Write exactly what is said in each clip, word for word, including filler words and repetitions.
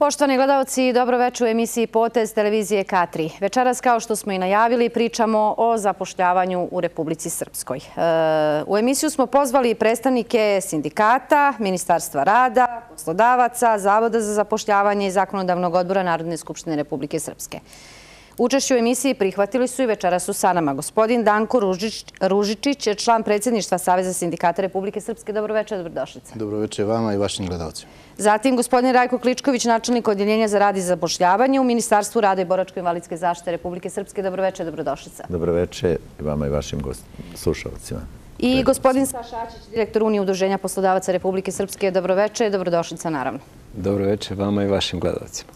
Poštovani gledalci, dobroveče u emisiji Potez televizije K tri. Večeras, kao što smo i najavili, pričamo o zapošljavanju u Republici Srpskoj. U emisiju smo pozvali predstavnike sindikata, Ministarstva rada, poslodavaca, Zavoda za zapošljavanje i Zakonodavnog odbora Narodne skupštine Republike Srpske. Učešće u emisiji prihvatili su i večeras su sa nama gospodin Danko Ružičić, član predsjedništva Saveza sindikata Republike Srpske. Dobroveče, dobrodošlica. Dobroveče vama i vašim gledalcima. Zatim gospodin Rajko Kličković, načelnik Odjeljenja za rad i zapošljavanje u Ministarstvu rada i boračko-invalidske zaštite Republike Srpske. Dobroveče, dobrodošlica. Dobroveče i vama i vašim slušalcima. I gospodin Saša Ačić, direktor Unije udruženja poslodavaca Republike Srpske. Dobroveče, dobrodošlica naravno. Dobroveče vama i vašim gledalcima.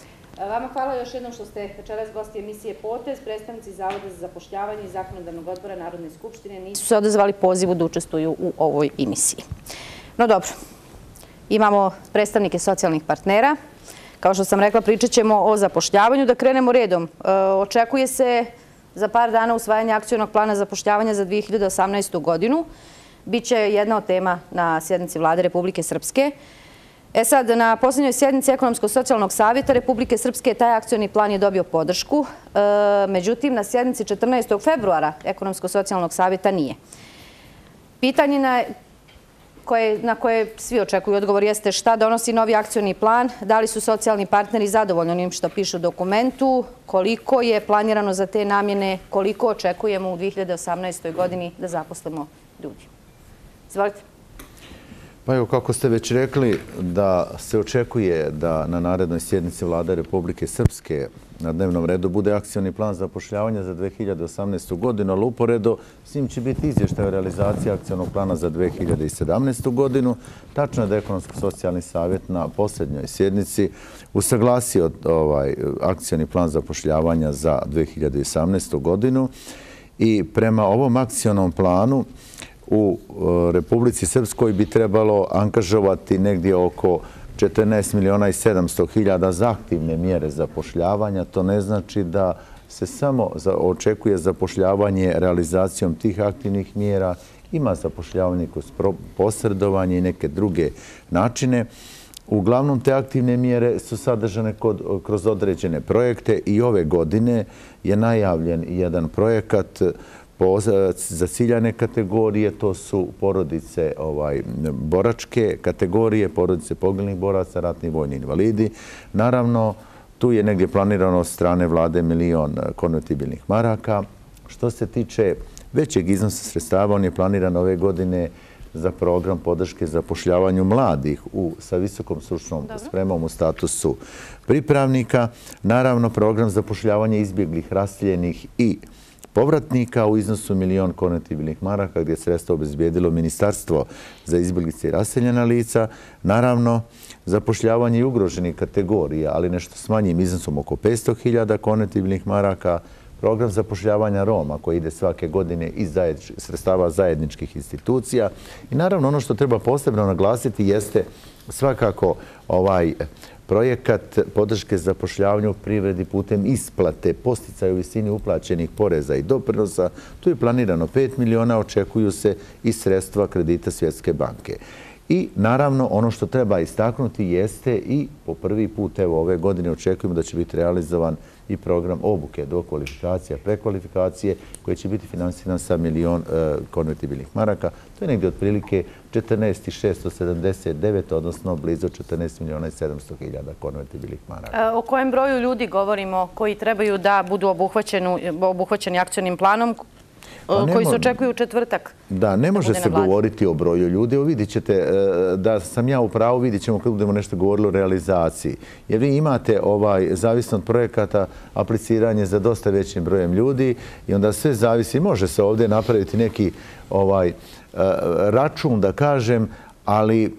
Vama hvala još jednom što ste večeras gosti emisije Potez. Predstavnici Zavoda za zapošljavanje i Zakonodavnog odbora Narodne skupštine nisu se odazvali pozivu da učestvuju u ovoj emisiji. No dobro, imamo predstavnike socijalnih partnera. Kao što sam rekla, pričat ćemo o zapošljavanju. Da krenemo redom. Očekuje se za par dana usvajanje akcionog plana zapošljavanja za dve hiljade osamnaestu. godinu. Biće jedna od tema na sjednici Vlade Republike Srpske. E sad, na posljednjoj sjednici Ekonomsko-socijalnog savjeta Republike Srpske taj akcioni plan je dobio podršku. Međutim, na sjednici četrnaestog februara Ekonomsko-socijalnog savjeta nije. Pitanje na koje svi očekuju odgovor jeste šta donosi novi akcioni plan, da li su socijalni partneri zadovoljni onim što piše u dokumentu, koliko je planirano za te namjene, koliko očekujemo u dve hiljade osamnaestoj. godini da zaposlimo ljudi. Izvolite. Pa evo, kako ste već rekli, da se očekuje da na narednoj sjednici Vlade Republike Srpske na dnevnom redu bude akcioni plan zapošljavanja za dve hiljade osamnaestu. godinu, ali uporedo s njim će biti izvještaj o realizaciji akcionog plana za dve hiljade sedamnaestu. godinu. Tačno je da Ekonomsko-socijalni savjet na posljednjoj sjednici usaglasio ovaj akcioni plan zapošljavanja za dve hiljade osamnaestu. godinu i prema ovom akcionom planu u Republici Srpskoj bi trebalo angažovati negdje oko četrnaest miliona i sedamsto hiljada za aktivne mjere zapošljavanja. To ne znači da se samo očekuje zapošljavanje realizacijom tih aktivnih mjera. Ima zapošljavanje kroz posredovanje i neke druge načine. Uglavnom, te aktivne mjere su sadržane kroz određene projekte i ove godine je najavljen jedan projekat za ciljane kategorije, to su porodice boračke kategorije, porodice poginulih boraca, ratni vojni invalidi. Naravno, tu je negdje planirano od strane vlade milion konvertibilnih maraka. Što se tiče većeg iznosa sredstava, on je planiran ove godine za program podrške zapošljavanju mladih sa visokom stručnom spremom u statusu pripravnika. Naravno, program zapošljavanja izbjeglih, raseljenih i povratnika u iznosu milion konvertibilnih maraka gdje je sredstvo obezbijedilo Ministarstvo za izbjeglice i raseljena lica. Naravno, zapošljavanje i ugroženih kategorija, ali nešto s manjim iznosom oko petsto hiljada konvertibilnih maraka. Program zapošljavanja Roma koji ide svake godine iz sredstava zajedničkih institucija. I naravno, ono što treba posebno naglasiti jeste svakako ovaj projekat podrške zapošljavanju u privredi putem isplate posticaja u visini uplaćenih poreza i doprinosa. Tu je planirano pet miliona, očekuju se i sredstva kredita Svjetske banke. I naravno, ono što treba istaknuti jeste i po prvi put evo ove godine očekujemo da će biti realizovan i program obuke, dokvalifikacija, prekvalifikacije koji će biti finansiran sa milion konvertibilnih maraka. To je negdje otprilike četrnaest hiljada šesto sedamdeset devet, odnosno blizu četrnaest miliona i sedamsto hiljada konvertibilnih maraka. O kojem broju ljudi govorimo koji trebaju da budu obuhvaćeni akcionim planom koji se očekuju u četvrtak? Da, ne može se govoriti o broju ljudi. Evo vidit ćete da sam ja u pravu, vidit ćemo kad budemo nešto govorili o realizaciji. Jer vi imate, zavisno od projekata, apliciranje za dosta većim brojem ljudi i onda sve zavisi. Može se ovdje napraviti neki račun, da kažem, ali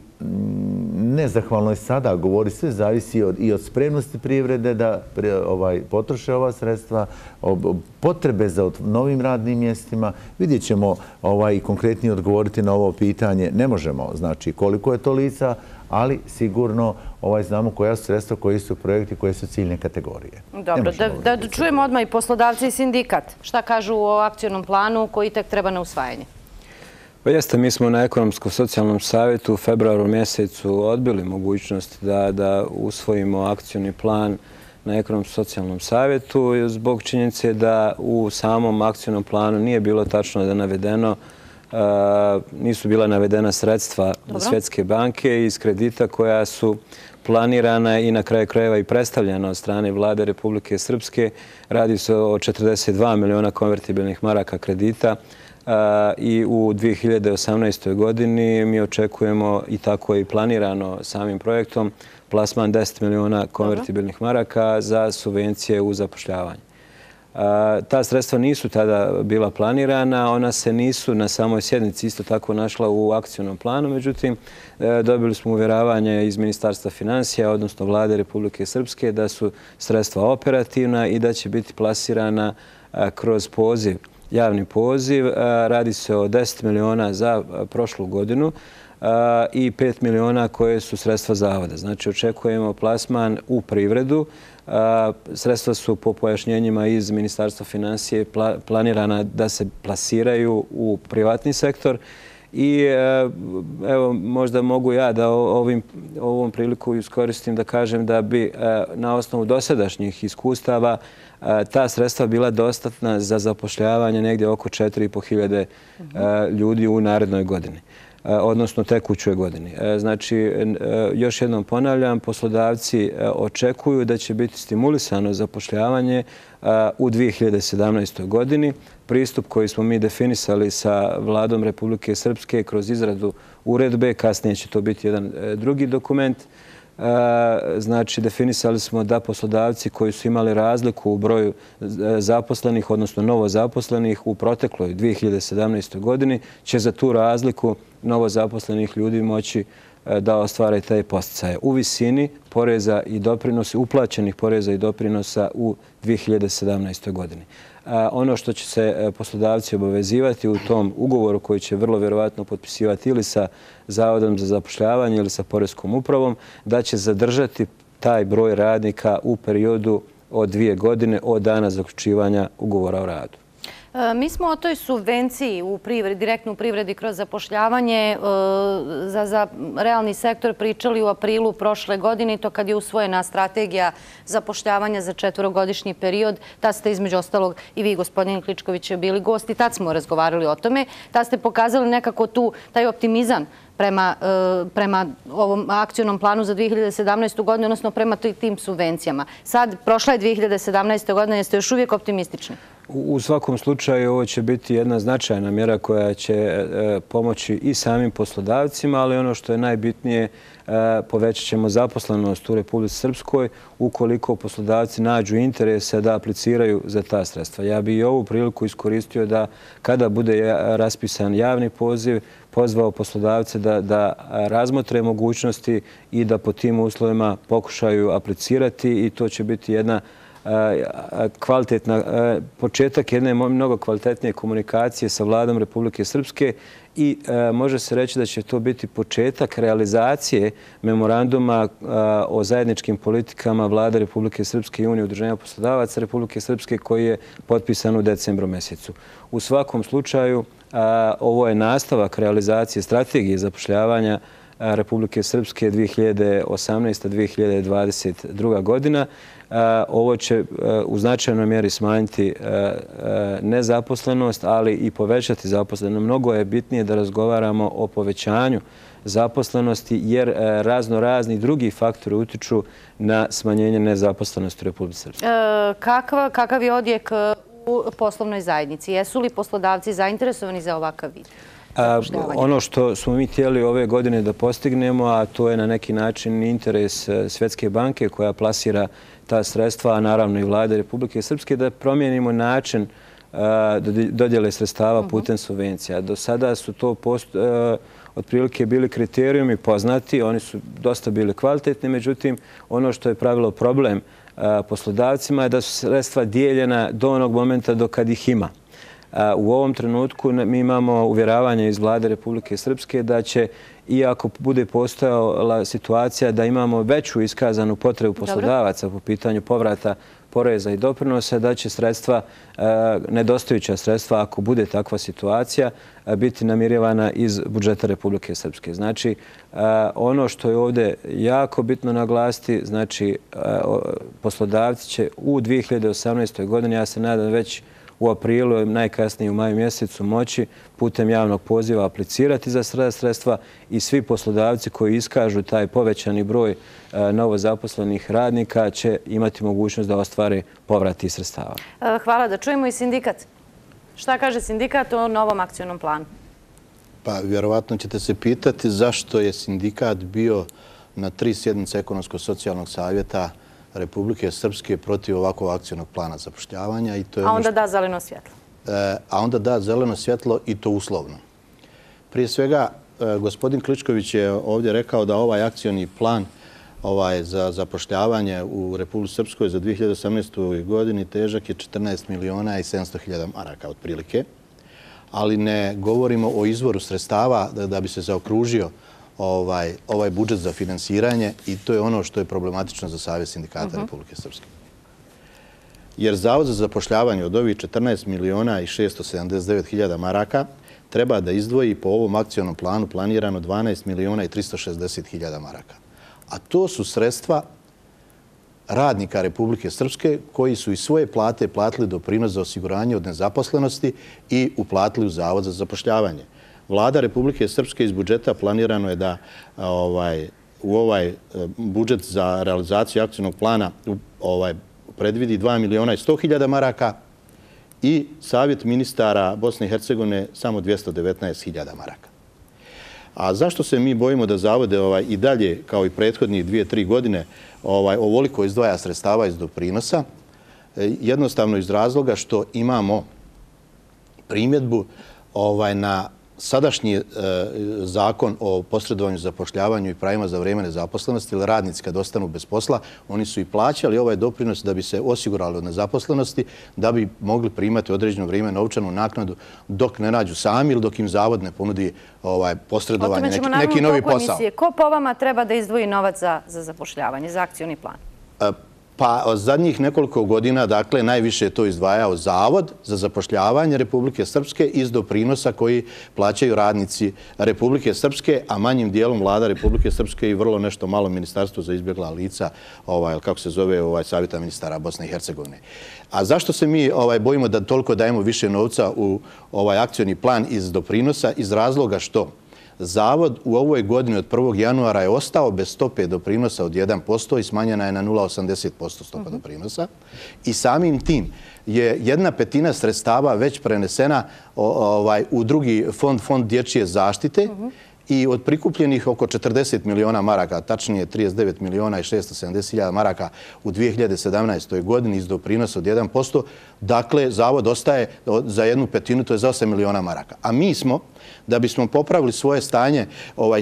nezahvalno je sada govori, sve zavisi i od spremnosti privrede da potroše ova sredstva, potrebe za novim radnim mjestima. Vidjet ćemo i konkretnije odgovoriti na ovo pitanje. Ne možemo, znači koliko je to lica, ali sigurno znamo koja su sredstva, koji su projekti, koje su ciljne kategorije. Dobro, da čujemo odmah i poslodavci i sindikat. Šta kažu o akcionom planu koji tek treba na usvajanje? Pa jeste, mi smo na Ekonomsko-socijalnom savjetu u februaru mjesecu odbili mogućnost da, da usvojimo akcioni plan na Ekonomsko-socijalnom savjetu zbog činjenice da u samom akcionom planu nije bilo tačno da navedeno, uh, nisu bila navedena sredstva Dobro. Svjetske banke iz kredita koja su planirana i na kraju krajeva i predstavljena od strane vlade Republike Srpske. Radi se o četrdeset dva miliona konvertibilnih maraka kredita i u dvije hiljade osamnaestoj godini mi očekujemo, i tako je i planirano samim projektom, plasman deset miliona konvertibilnih maraka za subvencije u zapošljavanju. Ta sredstva nisu tada bila planirana, ona se nisu na samoj sjednici isto tako našla u akcionom planu, međutim dobili smo uvjeravanje iz Ministarstva financija, odnosno vlade Republike Srpske, da su sredstva operativna i da će biti plasirana kroz poziv, javni poziv. Radi se o deset miliona za prošlu godinu i pet miliona koje su sredstva zavoda. Znači očekujemo plasman u privredu. Sredstva su po pojašnjenjima iz Ministarstva financije planirana da se plasiraju u privatni sektor i evo možda mogu ja da ovim, ovom priliku iskoristim da kažem da bi na osnovu dosadašnjih iskustava ta sredstva bila dostatna za zapošljavanje negdje oko četiri i po hiljade ljudi u narednoj godini, odnosno tekućoj godini. Znači, još jednom ponavljam, poslodavci očekuju da će biti stimulisano zapošljavanje u dvije hiljade sedamnaestoj godini. Pristup koji smo mi definisali sa vladom Republike Srpske kroz izradu uredbe, kasnije će to biti jedan drugi dokument. Znači, definisali smo da poslodavci koji su imali razliku u broju zaposlenih, odnosno novo zaposlenih u protekloj dvije hiljade sedamnaestoj godini, će za tu razliku novo zaposlenih ljudi moći da ostvare te podsticaje u visini poreza i doprinosa, uplaćenih poreza i doprinosa u dvije hiljade sedamnaestoj godini. Ono što će se poslodavci obavezivati u tom ugovoru koji će vrlo vjerovatno potpisivati ili sa Zavodom za zapošljavanje ili sa Poreskom upravom, da će zadržati taj broj radnika u periodu od dvije godine od dana zaključivanja ugovora o radu. Mi smo o toj subvenciji u privredi, direktno u privredi kroz zapošljavanje za, za realni sektor pričali u aprilu prošle godine, to kad je usvojena strategija zapošljavanja za četvorogodišnji period. Tad ste između ostalog i vi, gospodin Kličković, bili gosti, tad smo razgovarali o tome. Tad ste pokazali nekako tu taj optimizam prema, prema ovom akcionom planu za dvije hiljade sedamnaestu godinu, odnosno prema tim subvencijama. Sad, prošla je dvije hiljade sedamnaesta godina, jeste još uvijek optimistični? U svakom slučaju ovo će biti jedna značajna mjera koja će pomoći i samim poslodavcima, ali ono što je najbitnije, povećat ćemo zaposlenost u Republici Srpskoj ukoliko poslodavci nađu interese da apliciraju za ta sredstva. Ja bih i ovu priliku iskoristio da kada bude raspisan javni poziv, pozvao poslodavce da, da razmotre mogućnosti i da po tim uslovima pokušaju aplicirati i to će biti jedna kvalitetna, početak jedne mnogo kvalitetnije komunikacije sa vladom Republike Srpske i može se reći da će to biti početak realizacije memoranduma o zajedničkim politikama vlade Republike Srpske i Unije udruženja poslodavaca Republike Srpske koji je potpisan u decembru mjesecu. U svakom slučaju ovo je nastavak realizacije strategije zapošljavanja Republike Srpske dvije hiljade osamnaesta do dvije hiljade dvadeset druga godina. Ovo će u značajnoj mjeri smanjiti nezaposlenost, ali i povećati zaposlenost. Mnogo je bitnije da razgovaramo o povećanju zaposlenosti, jer razno razni drugi faktori utiču na smanjenje nezaposlenosti u Republike Srpske. Kakav, kakav je odjek u poslovnoj zajednici? Jesu li poslodavci zainteresovani za ovakav vid? Ono što smo mi htjeli ove godine da postignemo, a to je na neki način interes Svjetske banke koja plasira ta sredstva, a naravno i vlade Republike Srpske, da promijenimo način dodjele sredstava putem subvencija. Do sada su to otprilike bili kriterijumi poznati, oni su dosta bili kvalitetni, međutim ono što je pravilo problem poslodavcima je da su sredstva dijeljena do onog momenta do kad ih ima. U ovom trenutku mi imamo uvjeravanje iz vlade Republike Srpske da će, iako bude postojala situacija da imamo veću iskazanu potrebu poslodavaca po pitanju povrata poreza i doprinosa, da će sredstva, nedostajuća sredstva, ako bude takva situacija, biti namirivana iz budžeta Republike Srpske. Znači, ono što je ovdje jako bitno naglasiti, znači, poslodavci će u dvije hiljade osamnaestoj godini, ja se nadam već u aprilu, najkasnije u maju mjesecu, moći putem javnog poziva aplicirati za sredstva i svi poslodavci koji iskažu taj povećani broj novozaposlenih radnika će imati mogućnost da ostvare povrat tih sredstava. Hvala. Da čujemo i sindikat. Šta kaže sindikat o novom akcionom planu? Pa vjerovatno ćete se pitati zašto je sindikat bio na tri sjednice Ekonomsko-socijalnog savjeta Republike Srpske protiv ovakvog akcionog plana zapošljavanja. A onda da zeleno svjetlo. A onda da zeleno svjetlo i to uslovno. Prije svega, gospodin Kličković je ovdje rekao da ovaj akcioni plan za zapošljavanje u Republici Srpskoj za dvije hiljade osamnaestu. godini težak je četrnaest miliona i sedamsto hiljada maraka otprilike. Ali ne govorimo o izvoru sredstava da bi se zaokružio ovaj budžet za finansiranje i to je ono što je problematično za Savez sindikata Republike Srpske. Jer Zavod za zapošljavanje od ovih četrnaest miliona i šesto sedamdeset devet hiljada maraka treba da izdvoji po ovom akcionom planu planirano dvanaest miliona i tristo šezdeset hiljada maraka. A to su sredstva radnika Republike Srpske koji su iz svoje plate platili doprinos za osiguranje od nezaposlenosti i uplatili u Zavod za zapošljavanje. Vlada Republike Srpske iz budžeta planirano je da u ovaj budžet za realizaciju akcionog plana predvidi dva miliona i sto hiljada maraka i Savjet ministara Bosne i Hercegovine samo dvjesto devetnaest hiljada maraka. A zašto se mi bojimo da Zavode i dalje, kao i prethodnih dvije, tri godine, ovoliko izdvaja sredstava iz doprinosa? Jednostavno iz razloga što imamo primjedbu na sadašnji zakon o posredovanju, zapošljavanju i pravima za vreme nezaposlenosti, ili radnici kad ostanu bez posla, oni su i plaćali ovaj doprinos da bi se osigurali od nezaposlenosti, da bi mogli primati određeno vrijeme novčanu naknadu dok ne nađu sami ili dok im Zavod ne ponudi posredovanje, neki novi posao. Ko po vama treba da izdvoji novac za zapošljavanje, za akcioni plan? Pa zadnjih nekoliko godina, dakle, najviše je to izdvajao Zavod za zapošljavanje Republike Srpske iz doprinosa koji plaćaju radnici Republike Srpske, a manjim dijelom Vlada Republike Srpske i vrlo nešto malo Ministarstvo za izbjegla lica, kako se zove, Savjeta ministara Bosne i Hercegovine. A zašto se mi bojimo da toliko dajemo više novca u ovaj akcioni plan iz doprinosa? Iz razloga što Zavod u ovoj godini od prvog januara je ostao bez stope doprinosa od jedan posto i smanjena je na nula zarez osamdeset posto stopa doprinosa i samim tim je jedna petina sredstava već prenesena u drugi fond, fond dječje zaštite i od prikupljenih oko četrdeset miliona maraka, tačnije trideset devet miliona i šesto sedamdeset hiljada maraka u dvije hiljade sedamnaestoj. godini iz doprinosa od jedan posto, dakle, Zavod ostaje za jednu petinu, to je za osam miliona maraka. A mi smo, da bismo popravili svoje stanje,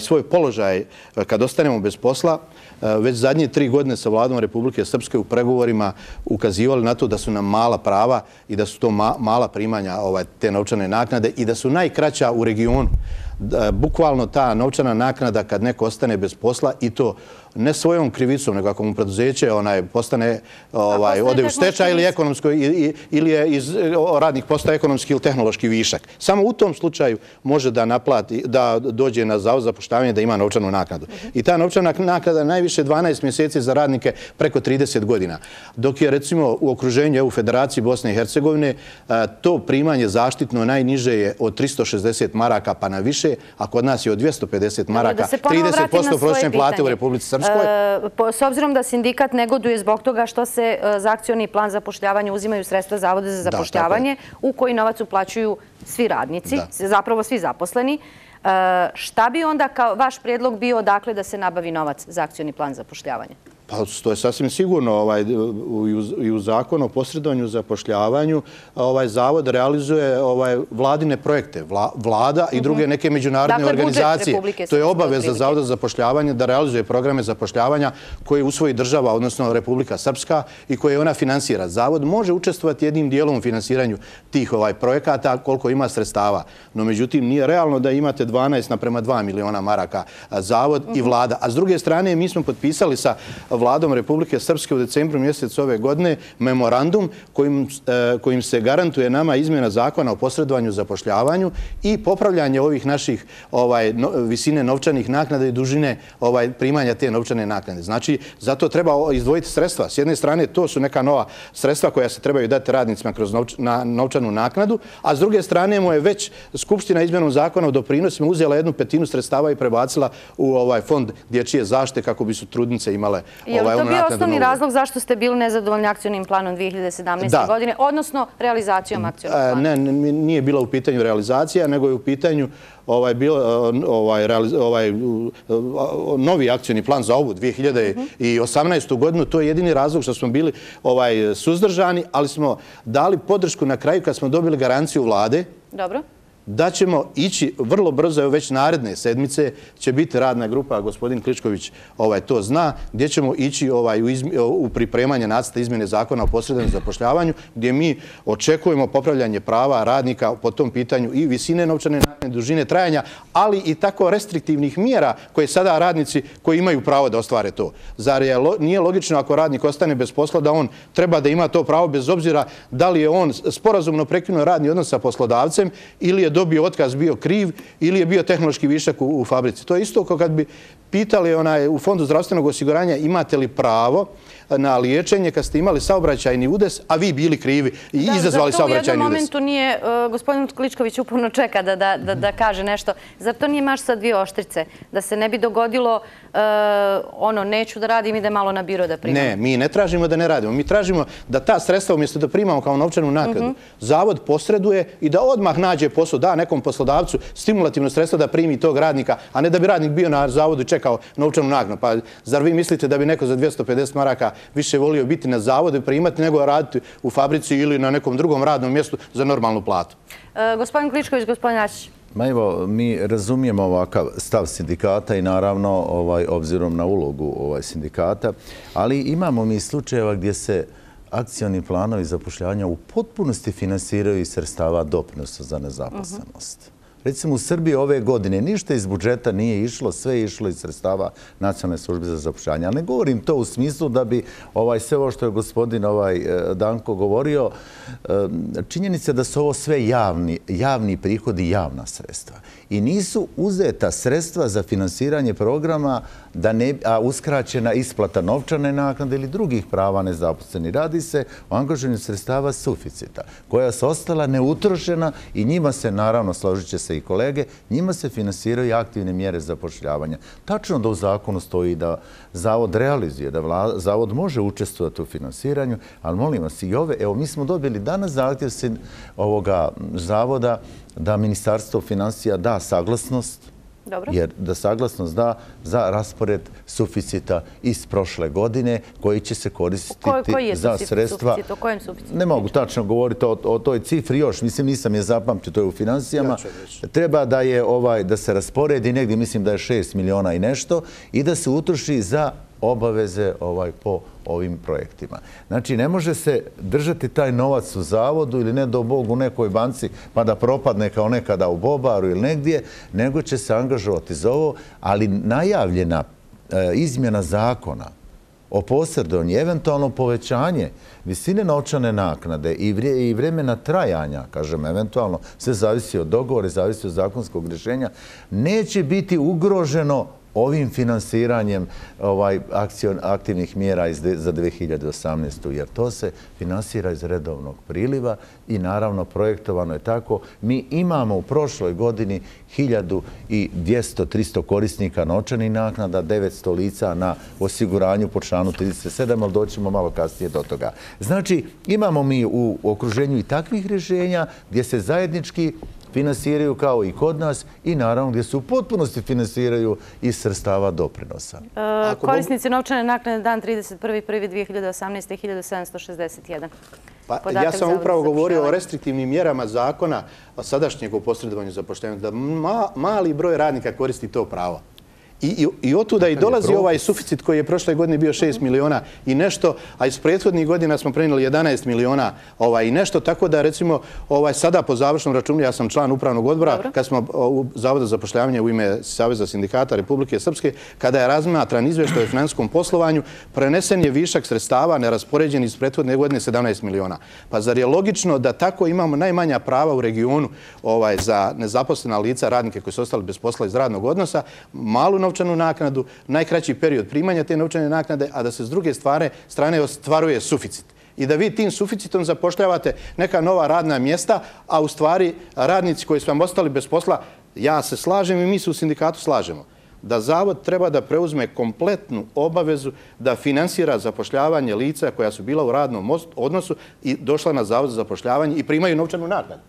svoj položaj kad ostanemo bez posla, već zadnje tri godine sa Vladom Republike Srpske u pregovorima ukazivali na to da su nam mala prava i da su to mala primanja te novčane naknade i da su najkraća u regionu. Bukvalno ta novčana naknada kad neko ostane bez posla i to ne svojom krivicom, nego ako mu preduzeće postane, ode u stečaj ili ekonomsko, ili je iz radnih postaja ekonomski ili tehnološki višak. Samo u tom slučaju može da naplati, da dođe na Zavod za zapošljavanje da ima novčanu naknadu. I ta novčana naknada najviše dvanaest mjeseci za radnike preko trideset godina. Dok je recimo u okruženju u Federaciji Bosne i Hercegovine to primanje zaštitno najniže je od tristo šezdeset maraka pa na više, a kod nas je od dvjesto pedeset maraka, trideset posto prosječne plate u Republici Srpskoj. S obzirom da sindikat negoduje zbog toga što se za akcioni plan zapošljavanja uzimaju sredstva Zavoda za zapošljavanje u koji novac uplaćuju svi radnici, zapravo svi zaposleni, šta bi onda kao vaš prijedlog bio odakle da se nabavi novac za akcioni plan zapošljavanja? Pa to je sasvim sigurno. I u zakonu o posredovanju i zapošljavanju Zavod realizuje vladine projekte. Vlada i druge neke međunarodne organizacije. To je obaveza Zavoda za zapošljavanje da realizuje programe zapošljavanja koje usvoji država, odnosno Republika Srpska i koje ona finansira. Zavod može učestvovati jednim dijelom u finansiranju tih projekata koliko ima sredstava. No, međutim, nije realno da imate dvanaest naprema dva miliona maraka Zavod i Vlada. A s druge strane, mi smo potpisali sa vladom Republike Srpske u decembru mjesecu ove godine memorandum kojim, kojim se garantuje nama izmjena zakona o posredovanju zapošljavanju i popravljanje ovih naših ovaj, no, visine novčanih naknada i dužine ovaj, primanja te novčane naknade. Znači, zato treba izdvojiti sredstva. S jedne strane, to su neka nova sredstva koja se trebaju dati radnicima kroz novč, na, novčanu naknadu, a s druge strane mu je već Skupština izmjenom zakona o doprinosima uzela jednu petinu sredstava i prebacila u ovaj fond dječje zaštite kako bi su trudnice imale ovaj, onu naknadu. Je li to bio osnovni razlog zašto ste bili nezadovoljni akcionim planom dvije hiljade sedamnaeste. godine, odnosno realizacijom akcionog plana? Ne, nije bila u pitanju realizacija, nego je u pitanju ovaj, bil, ovaj, realiz, ovaj, novi akcioni plan za ovu dvije hiljade osamnaestu. godinu. To je jedini razlog što smo bili ovaj, suzdržani, ali smo dali podršku na kraju kad smo dobili garanciju vlade. Dobro. Da ćemo ići vrlo brzo, evo već naredne sedmice će biti radna grupa, gospodin Kličković ovaj, to zna, gdje ćemo ići ovaj, u, izmi, u pripremanje nacrta izmjene zakona o posredovanju zapošljavanju, gdje mi očekujemo popravljanje prava radnika po tom pitanju i visine novčane naknade, dužine trajanja, ali i tako restriktivnih mjera koje sada radnici koji imaju pravo da ostvare to. Zar je, nije logično ako radnik ostane bez posla da on treba da ima to pravo bez obzira da li je on sporazumno prekinuo radni odnos sa poslodavcem ili je dobio otkaz, bio kriv ili je bio tehnološki višak u, u fabrici. To je isto kao kad bi pitali onaj, u Fondu zdravstvenog osiguranja imate li pravo na liječenje kad ste imali saobraćajni udes, a vi bili krivi i da, izazvali saobraćajni udes. U jednom momentu nije, uh, gospodin Kličković uporno čeka da, da, da, da kaže nešto. Zar to nije maš sa dvije oštrice? Da se ne bi dogodilo uh, ono, neću da radim, ide malo na biro da primam. Ne, mi ne tražimo da ne radimo. Mi tražimo da ta sredstva umjesto da primamo kao novčanu naknadu, uh -huh. Zavod posreduje i da odmah nađe posao, da nekom poslodavcu stimulativno sredstvo da primi tog radnika, a ne da bi radnik bio na zavodu i čekao novčanu naknadu. Pa zar vi mislite da bi neko za dvjesto pedeset maraka više volio biti na zavodu i primati nego raditi u fabrici ili na nekom drugom radnom mjestu za normalnu platu? E, gospodin Kličković, gospodin Ačić. Ma evo, mi razumijemo ovakav stav sindikata i naravno ovaj, obzirom na ulogu ovaj, sindikata, ali imamo mi slučajeva gdje se akcioni planovi zapošljavanja u potpunosti finansiraju iz sredstava doprinosa za nezaposlenost. Uh-huh. Recimo u Srbiji ove godine ništa iz budžeta nije išlo, sve je išlo iz sredstava Nacionalne službe za zapošljavanje. Ali ne govorim to u smislu da bi ovaj, sve ovo što je gospodin ovaj, Danko govorio, činjenica da su ovo sve javni, javni prihodi, javna sredstva. I nisu uzeta sredstva za finansiranje programa, da ne, a uskraćena isplata novčane naknade ili drugih prava nezaposleni. Radi se o angažovanju sredstava suficita, koja su ostala neutrošena i njima se, naravno, složit će se i kolege, njima se finansiraju aktivne mjere zapošljavanja. Tačno da u zakonu stoji da Zavod realizuje, da vla, Zavod može učestvovati u finansiranju, ali molim vas i ove, evo mi smo dobili danas zahtjev ovoga Zavoda da Ministarstvo financija da saglasnost, dobro. Jer da saglasnost da za raspored suficita iz prošle godine koji će se koristiti Ko, koji je za sredstva. Suficit? O kojem suficitu? Ne mogu tačno govoriti o, o toj cifri još, mislim nisam je zapamtio, to je u financijama. Ja treba da je ovaj da se rasporedi negdje, mislim da je šest miliona i nešto i da se utroši za obaveze ovaj po ovim projektima. Znači, ne može se držati taj novac u zavodu ili ne do Bog u nekoj banci pa da propadne kao nekada u Bobaru ili negdje, nego će se angažovati za ovo, ali najavljena e, izmjena zakona o posredovanju, eventualno povećanje visine novčane naknade i, vrije, i vremena trajanja, kažem, eventualno, sve zavisi od dogovora, zavisi od zakonskog rješenja, neće biti ugroženo ovim finansiranjem ovaj, akcion, aktivnih mjera iz de, za dvije hiljade osamnaestu. jer to se finansira iz redovnog priliva i naravno projektovano je tako. Mi imamo u prošloj godini hiljadu dvjesto do tristo korisnika novčanih naknada, devetsto lica na osiguranju po članu trideset sedam, ali doćemo malo kasnije do toga. Znači, imamo mi u okruženju i takvih rješenja gdje se zajednički finansiraju kao i kod nas i naravno gdje se u potpunosti finansiraju iz sredstava doprinosa. E, korisnici novčane naknade dan trideset prvi prvi dvije hiljade osamnaeste. hiljadu sedamsto šezdeset jedan. Pa, ja sam upravo govorio o restriktivnim mjerama zakona sadašnjeg o posredovanju zapošljavanja, da ma, mali broj radnika koristi to pravo. I, i, i otuda i dolazi ovaj suficit koji je prošle godine bio šest miliona i nešto, a iz prethodnih godina smo prenijeli jedanaest miliona ovaj, i nešto, tako da recimo ovaj, sada po završnom računu, ja sam član upravnog odbora, Dobro. kad smo u Zavoda za zapošljavanje u ime Saveza sindikata Republike Srpske, kada je razmatran izvještaj o finansijskom poslovanju, prenesen je višak sredstava neraspoređen iz prethodne godine sedamnaest miliona. Pa zar je logično da tako imamo najmanja prava u regionu ovaj, za nezaposlena lica, radnike koji su ostali bez posla iz radnog odnosa, malu novčanu naknadu, najkraći period primanja te novčane naknade, a da se s druge stvari, strane ostvaruje suficit. I da vi tim suficitom zapošljavate neka nova radna mjesta, a u stvari radnici koji su vam ostali bez posla, ja se slažem i mi se u sindikatu slažemo, da Zavod treba da preuzme kompletnu obavezu da finansira zapošljavanje lica koja su bila u radnom odnosu i došla na Zavod za zapošljavanje i primaju novčanu naknadu.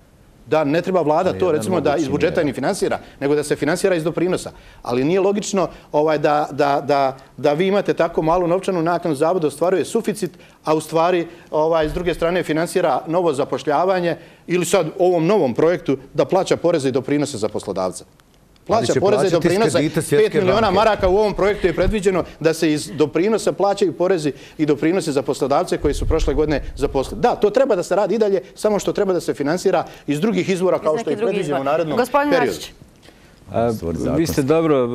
Da ne treba vlada to recimo da iz budžeta ni finansira, nego da se finansira iz doprinosa. Ali nije logično ovaj, da, da, da, da vi imate tako malu novčanu naknadu, Zavod ostvaruje suficit, a u stvari ovaj, s druge strane finansira novo zapošljavanje ili sad ovom novom projektu da plaća poreze i doprinose za poslodavca. Plaća poreze i doprinose, pet miliona maraka u ovom projektu je predviđeno da se iz doprinosa plaćaju porezi i doprinose za poslodavce koji su prošle godine zaposlili. Da, to treba da se radi i dalje, samo što treba da se finansira iz drugih izvora kao što je predviđeno u narednom periodu. Vi ste dobro,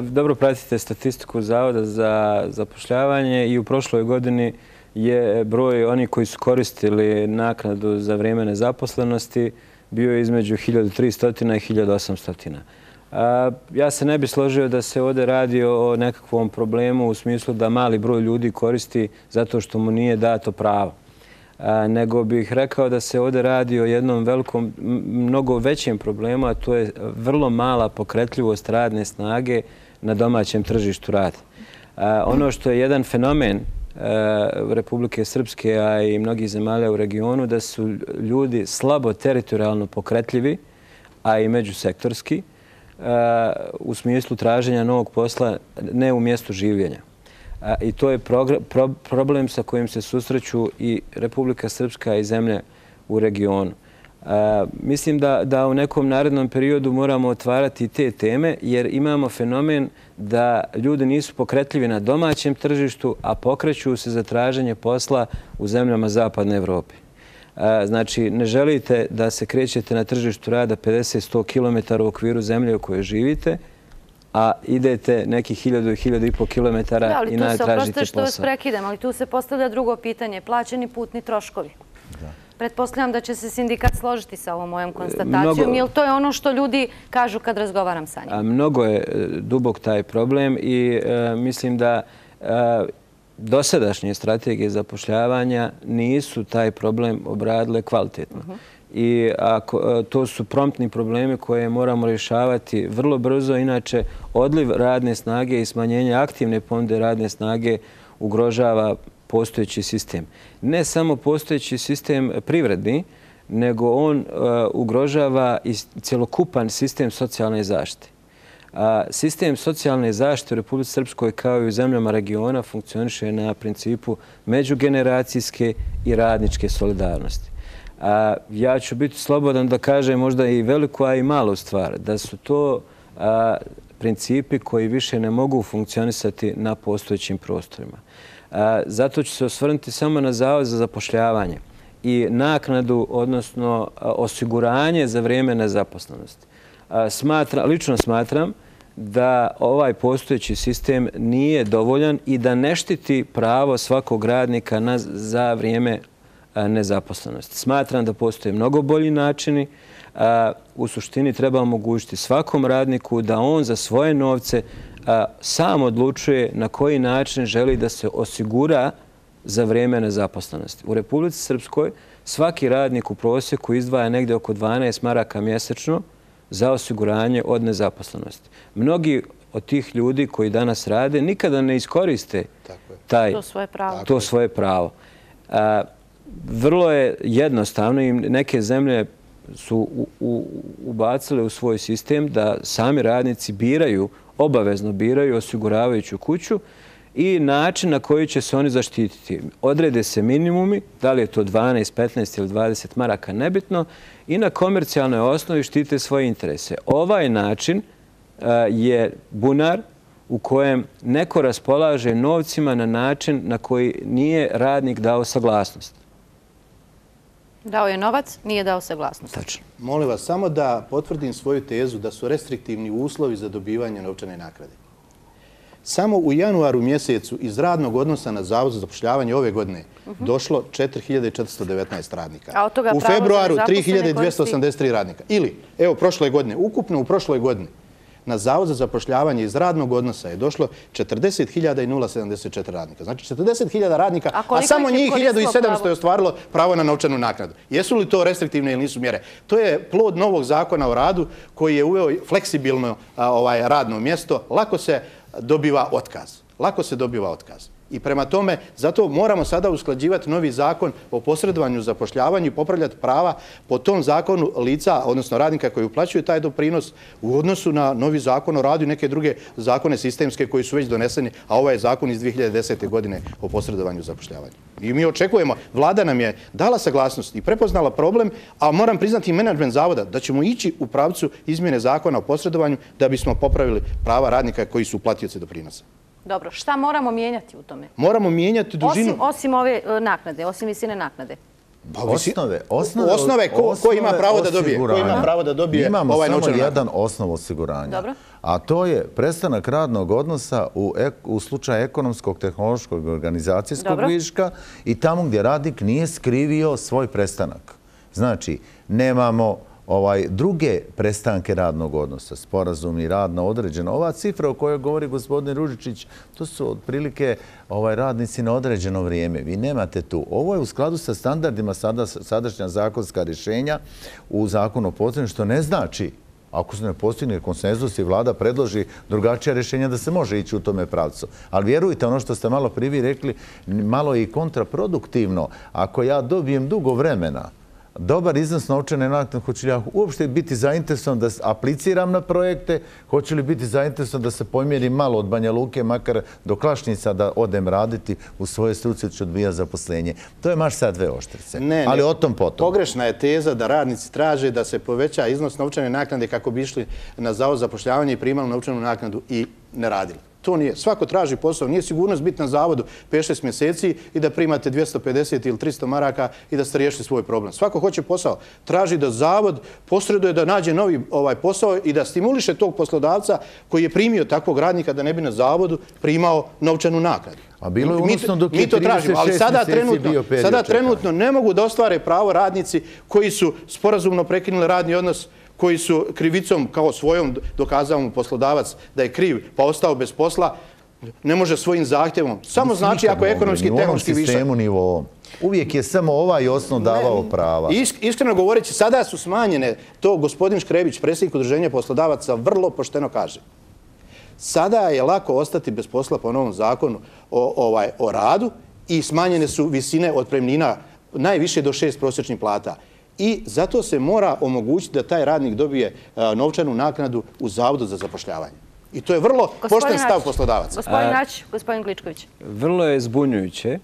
dobro pratite statistiku Zavoda za zapošljavanje i u prošloj godini je broj onih koji su koristili naknadu za vrijeme nezaposlenosti bio između hiljadu tristo i hiljadu osamsto. Ja se ne bi složio da se ovdje radi o nekakvom problemu u smislu da mali broj ljudi koristi zato što mu nije dato pravo. Nego bih rekao da se ovdje radi o jednom velikom, mnogo većem problemu, a to je vrlo mala pokretljivost radne snage na domaćem tržištu rada. Ono što je jedan fenomen Republike Srpske, a i mnogih zemalja u regionu, da su ljudi slabo teritorijalno pokretljivi, a i međusektorski, u smislu traženja novog posla ne u mjestu življenja. I to je problem sa kojim se susreću i Republika Srpska i zemlje u regionu. Mislim da, da u nekom narednom periodu moramo otvarati te teme, jer imamo fenomen da ljudi nisu pokretljivi na domaćem tržištu, a pokreću se za traženje posla u zemljama Zapadne Evrope. Znači, ne želite da se krećete na tržištu rada pedeset do sto kilometara u okviru zemlje u kojoj živite, a idete nekih hiljadu i hiljadu i po kilometara i natražite posao. Ali tu se, oprostite što vas prekidam, ali tu se postavlja drugo pitanje. Plaćeni putni troškovi. Pretpostavljam da će se sindikat složiti sa ovom mojom konstatacijom, jer to je ono što ljudi kažu kad razgovaram sa njim. Mnogo je dubok taj problem i mislim da dosadašnje strategije zapošljavanja nisu taj problem obradile kvalitetno. I to su promptni problemi koje moramo rješavati vrlo brzo, inače odliv radne snage i smanjenje aktivne ponude radne snage ugrožava postojeći sistem. Ne samo postojeći sistem privredni, nego on ugrožava i cjelokupan sistem socijalne zaštite. Sistem socijalne zaštite u Republici Srpskoj kao i u zemljama regiona funkcioniše na principu međugeneracijske i radničke solidarnosti. Ja ću biti slobodan da kažem možda i veliku, a i malu stvar, da su to principi koji više ne mogu funkcionisati na postojećim prostorima. Zato ću se osvrnuti samo na Zavod za zapošljavanje i naknadu, odnosno osiguranje za vrijeme nezaposlenosti. Lično smatram da ovaj postojeći sistem nije dovoljan i da ne štiti pravo svakog radnika za vrijeme nezaposlenosti. Smatram da postoje mnogo bolji načini. U suštini treba omogućiti svakom radniku da on za svoje novce sam odlučuje na koji način želi da se osigura za vrijeme nezaposlenosti. U Republici Srpskoj svaki radnik u prosjeku izdvaja negdje oko dvanaest maraka mjesečno za osiguranje od nezaposlenosti. Mnogi od tih ljudi koji danas rade nikada ne iskoriste taj, to svoje pravo. Vrlo je jednostavno i neke zemlje su ubacile u svoj sistem da sami radnici biraju, obavezno biraju osiguravajuću kuću i način na koji će se oni zaštititi. Odrede se minimumi, da li je to dvanaest, petnaest ili dvadeset maraka, nebitno, i na komercijalnoj osnovi štite svoje interese. Ovaj način je bunar u kojem neko raspolaže novcima na način na koji nije radnik dao saglasnost. Dao je novac, nije dao saglasnost. Tačno. Molim vas samo da potvrdim svoju tezu da su restriktivni uslovi za dobivanje novčane naknade. Samo u januaru mjesecu iz radnog odnosa na Zavod za zapošljavanje ove godine došlo četiri hiljade četiristo devetnaest radnika. A od toga u pravo za februaru nezaposlene tri hiljade dvjesto osamdeset tri radnika. Ili, evo, prošle godine, ukupno u prošloj godini, na Zavod za zapošljavanje iz radnog odnosa je došlo četrdeset hiljada sedamdeset četiri radnika. Znači četrdeset hiljada radnika, A a, koliko samo ih je njih hiljadu sedamsto koristilo je ostvarilo pravo na novčanu naknadu. Jesu li to restriktivne ili nisu mjere? To je plod novog zakona o radu koji je uveo fleksibilno a, ovaj, radno mjesto. Lako se dobiva otkaz. Lako se dobiva otkaz. I prema tome, zato moramo sada usklađivati novi zakon o posredovanju, zapošljavanju i popravljati prava po tom zakonu lica, odnosno radnika koji uplaćuju taj doprinos u odnosu na novi zakon o radu i neke druge zakone sistemske koji su već doneseni, a ovaj je zakon iz dvije hiljade desete. godine o posredovanju i zapošljavanju. I mi očekujemo, vlada nam je dala saglasnost i prepoznala problem, a moram priznati i menadžment zavoda da ćemo ići u pravcu izmjene zakona o posredovanju da bismo popravili prava radnika koji su uplatioci doprinosa. Dobro, šta moramo mijenjati u tome? Moramo mijenjati dužinu. Osim, osim ove e, naknade, osim visine naknade. Osnove, osnove, osnove, ko, ko ima pravo da dobije? Ko ima pravo da dobije Imamo ovaj samo novčanu jedan naknadu? osnov osiguranja. Dobro. A to je prestanak radnog odnosa u, ek, u slučaju ekonomskog, tehnološkog, organizacijskog Dobro. viška i tamo gdje radnik nije skrivio svoj prestanak. Znači, nemamo ovaj druge prestanke radnog odnosa, sporazumni rad na određeno. Ova cifra o kojoj govori gospodin Ružičić, to su otprilike ovaj radnici na određeno vrijeme. Vi nemate tu. Ovo je u skladu sa standardima sada, sadašnja zakonska rješenja u zakonu o posredovanju, što ne znači, ako se ne postigne konsenzus i vlada predloži drugačija rješenja, da se može ići u tome pravcu. Ali vjerujte, ono što ste malo prije rekli, malo je i kontraproduktivno. Ako ja dobijem dugo vremena dobar iznos novčane naknade, hoću li ja uopšte biti zainteresovan da apliciram na projekte, hoću li biti zainteresovan da se pomjerim malo od Banja Luke, makar do Klašnica, da odem raditi u svoje struci, ću odbija zaposlenje. To je maš sad dve oštrice. Ne, ali ne. o tom potom. Pogrešna je teza da radnici traže da se poveća iznos novčane naknade kako bi išli na Zavod za zapošljavanje i primali novčanu naknadu i ne radili. To nije. Svako traži posao. Nije sigurnost biti na zavodu pet šest mjeseci i da primate dvjesto pedeset ili tristo maraka i da ste riješili svoj problem. Svako hoće posao. Traži da zavod posreduje da nađe novi ovaj posao i da stimuliše tog poslodavca koji je primio takvog radnika da ne bi na zavodu primao novčanu naknadu. A bilo je unosno dok je mi to tražimo, ali sada trenutno, bio period sada čekanja. trenutno ne mogu da ostvare pravo radnici koji su sporazumno prekinuli radni odnos, koji su krivicom kao svojom dokazao mu poslodavac da je kriv pa ostao bez posla, ne može svojim zahtjevom. Samo znači ako je ekonomski i tehnološki višak. Sistemu, ni u ovom. Uvijek je samo ovaj osnov davao prava. Isk, iskreno govoreći, sada su smanjene, to gospodin Škrebić, predsjednik udruženja poslodavaca, vrlo pošteno kaže. Sada je lako ostati bez posla po novom zakonu o, ovaj, o radu i smanjene su visine otpremnina najviše do šest prosječnih plata. I zato se mora omogućiti da taj radnik dobije a, novčanu naknadu u Zavodu za zapošljavanje. I to je vrlo pošten stav poslodavaca. Gospodin Nać, gospodin Gličković. Vrlo je zbunjujuće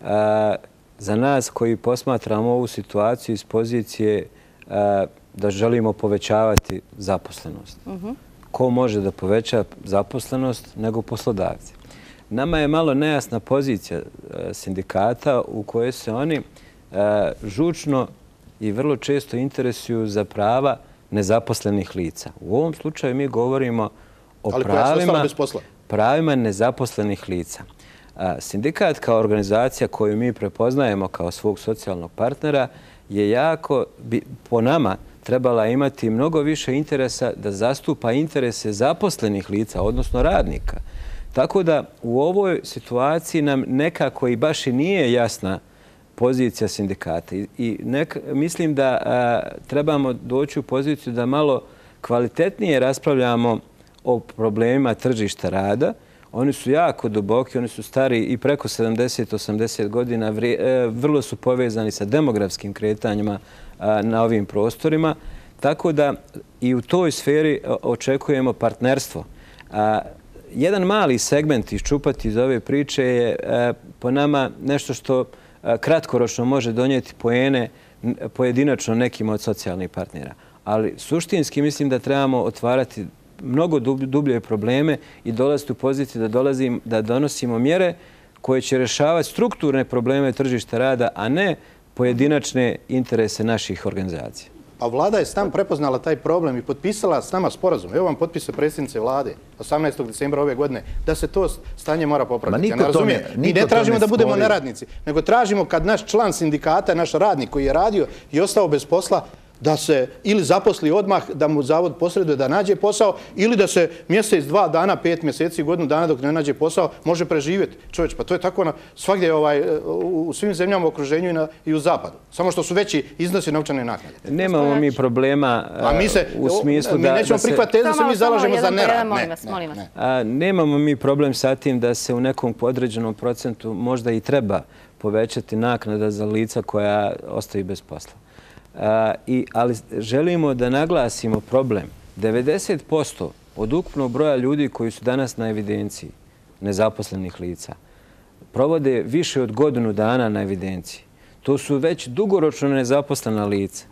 a, za nas koji posmatramo ovu situaciju iz pozicije a, da želimo povećavati zaposlenost. Uh-huh. Ko može da poveća zaposlenost nego poslodavci? Nama je malo nejasna pozicija a, sindikata u kojoj se oni a, žučno i vrlo često interesuju za prava nezaposlenih lica. U ovom slučaju mi govorimo o Ali pravima, bez posla. pravima nezaposlenih lica. A, sindikat kao organizacija koju mi prepoznajemo kao svog socijalnog partnera je jako, bi, po nama, trebala imati mnogo više interesa da zastupa interese zaposlenih lica, odnosno radnika. Tako da u ovoj situaciji nam nekako i baš i nije jasna pozicija sindikata. I, i nek, mislim da a, trebamo doći u poziciju da malo kvalitetnije raspravljamo o problemima tržišta rada. Oni su jako duboki, oni su stari i preko sedamdeset osamdeset godina, vri, e, vrlo su povezani sa demografskim kretanjima a, na ovim prostorima. Tako da i u toj sferi očekujemo partnerstvo. A, jedan mali segment iščupati iz ove priče je a, po nama nešto što kratkoročno može donijeti poene pojedinačno nekim od socijalnih partnera. Ali suštinski mislim da trebamo otvarati mnogo dublje probleme i dolaziti u poziciju da, dolazim, da donosimo mjere koje će rješavati strukturne probleme tržišta rada, a ne pojedinačne interese naših organizacija. A vlada je s nama prepoznala taj problem i potpisala s nama sporazum. Evo vam potpise predsjednice vlade osamnaestog decembra ove godine da se to stanje mora popraviti. Ja ne razumijem. Mi ne tražimo da budemo neradnici, nego tražimo kad naš član sindikata, naš radnik koji je radio i ostao bez posla, da se ili zaposli odmah, da mu zavod posreduje da nađe posao, ili da se mjesec, dva dana, pet mjeseci, godinu dana dok ne nađe posao, može preživjeti. Čovječ, pa to je tako na svagdje u svim zemljama u okruženju i u zapadu. Samo što su veći iznosi novčane naknade. Nemamo mi problema u smislu da... Mi nećemo prihvatiti da se mi zalažemo za nerad. Nemamo mi problem sa tim da se u nekom određenom procentu možda i treba povećati naknada za lica koja ostaju bez posla. I, ali želimo da naglasimo problem. devedeset posto od ukupnog broja ljudi koji su danas na evidenciji nezaposlenih lica provode više od godinu dana na evidenciji. To su već dugoročno nezaposlena lica.